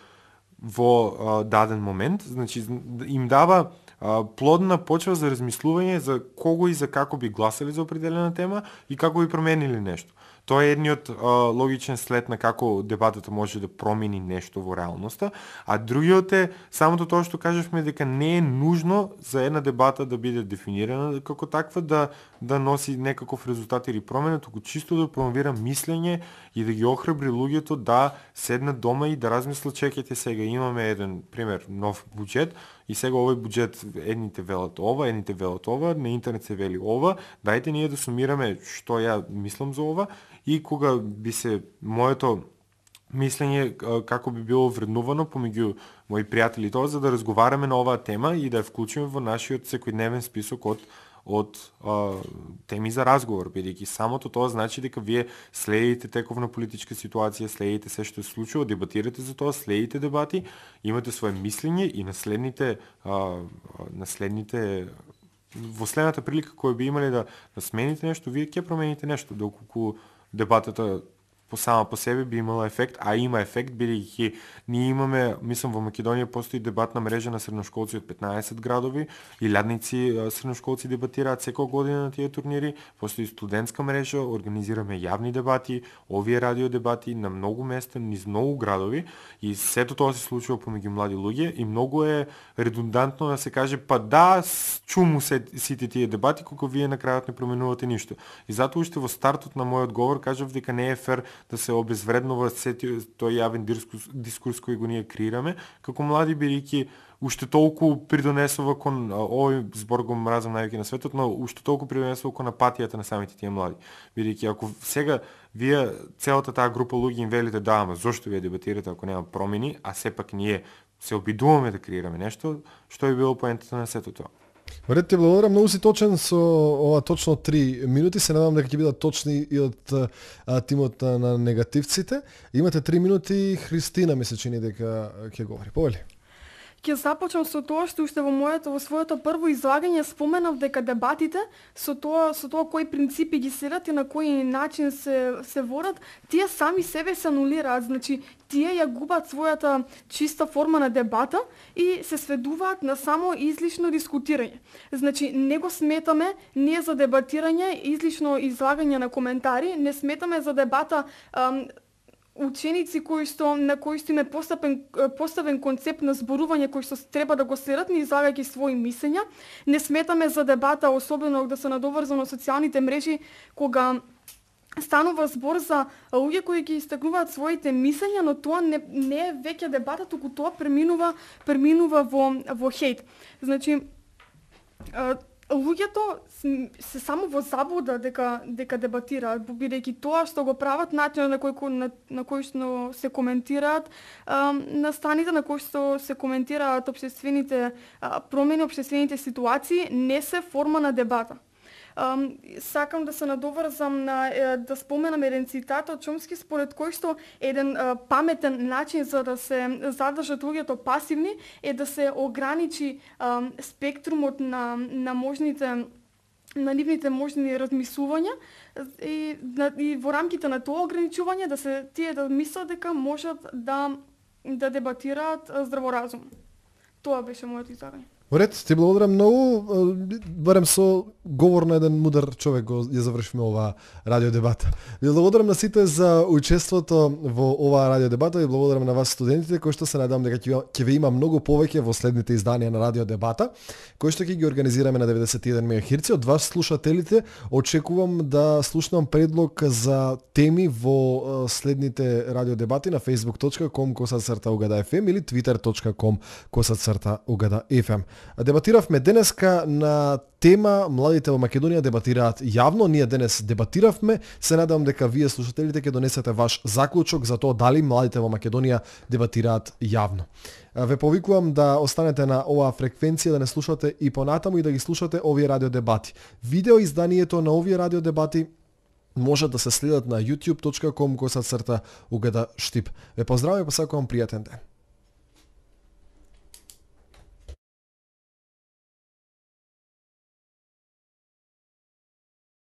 во а, даден момент, значи им дава а, плодна почва за размислување за кого и за како би гласали за определена тема и како би променили нешто. Тоа е едниот а, логичен след на како дебатата може да промени нешто во реалноста, а другиот е самото тоа што кажавме дека не е нужно за една дебата да биде дефинирана како таква да да носи некаков резултат или промена, туку чисто да промовира мислење и да ги охрабри луѓето да седнат дома и да размислат, чекајте сега имаме еден пример нов буџет и сега овој буџет едните велат ова, едните велат ова, на интернет се вели ова, дајте ние да сумираме што ја мислам за ова и кога би се моето мислење како би било вреднувано помеѓу мои пријатели тоа за да разговараме на оваа тема и да ја вклучиме во нашиот секојдневен список од од а, теми за разговор, бидејќи самото тоа значи дека вие следите тековна политичка ситуација, следите се што се случува, дебатирате за тоа, следите дебати, имате свое мислење и наследните а, наследните во следната прилика која би имале да, да смените нешто, вие ќе промените нешто, доколку дебатата по сама по себе би имала ефект, а има ефект, бидејќи ние имаме, мислам во Македонија постои дебатна мрежа на средношколци од петнаесет градови, илјадници средношколци дебатираат секоја година на тие турнири, постои студентска мрежа, организираме јавни дебати, овие радио дебати на многу места, низ многу градови и сето тоа се случува помеѓу млади луѓе и многу е редундантно да се каже па да, чуму се сите тие дебати кога вие на крајот не променувате ништо. И затоа уште во стартот на мојот говор кажав дека не е фер да се обезвреднува тој јавен дискурс, дискурс кој го ние креираме, како млади бидејќи уште толку придонесува кон овој збор го мразам највеќе на светот, но уште толку придонесува кон апатијата на самите тие млади. Бидејќи ако сега вие целата таа група луѓе им велите да, ама зошто вие дебатирате ако нема промени, а сепак ние се обидуваме да креираме нешто, што е било поентата на сето тоа. Марет, ти благодарам, многу си точен со ова точно три минути, се надевам дека ќе бидат точни и од а, тимот на негативците. Имате три минути, Христина ми се чини дека ќе говори. Повели. Ќе започнам со тоа што уште во моето во своето прво излагање споменав дека дебатите со тоа со тоа кои принципи ги следат и на кој начин се се водат, тие сами себе се анулираат, значи тие ја губат својата чиста форма на дебата и се сведуваат на само излишно дискутирање. Значи не го сметаме не за дебатирање, излишно излагање на коментари, не сметаме за дебата ам, ученици кои што на кои што им е поставен поставен концепт на зборување кој што треба да го следат ни излагајќи своји мислења. Не сметаме за дебата, особено да се надоврзано на социјалните мрежи, кога станува збор за луѓе кои ги истакнуваат своите мислења, но тоа не, не е веќе дебата, туку тоа преминува преминува во во хејт. Значи луѓето се само во заблуда дека дека дебатираат, бидејќи тоа што го прават, начинот на кој на, на кој што се коментираат а, на станите на кој што се коментираат општествените а, промени, општествените ситуации, не се форма на дебата. Ам, сакам да се надоврзам на е, да споменам еден цитат од Чомски според кој што еден е, паметен начин за да се задржат луѓето пасивни е да се ограничи ам, спектрумот на на можните на нивните можни размислувања и, на, и во рамките на тоа ограничување да се тие да мислат дека можат да да дебатираат здраворазум. Тоа беше моето излагање. Уред, ти благодарам многу, барем со говор на еден мудар човек го ја завршиме оваа радио дебата. Ви благодарам на сите за учеството во оваа радио дебата и благодарам на вас студентите кои што се надевам дека ќе ве има многу повеќе во следните изданија на радио дебата, кои што ќе ги организираме на деветдесет и еден мегахерци. Од вас слушателите очекувам да слушнам предлог за теми во следните радио дебати на facebook точка com косацрта угада еф ем или twitter точка com косацрта угада еф ем. Дебатиравме денеска на тема младите во Македонија дебатираат јавно. Ние денес дебатиравме. Се надевам дека вие слушателите ќе донесете ваш заклучок за тоа дали младите во Македонија дебатираат јавно. Ве повикувам да останете на оваа фреквенција, да не слушате и понатаму и да ги слушате овие радио дебати. Видео изданието на овие радио дебати може да се следат на youtube точка com косацрта угада штип. Ве поздравувам и посакувам пријатен ден.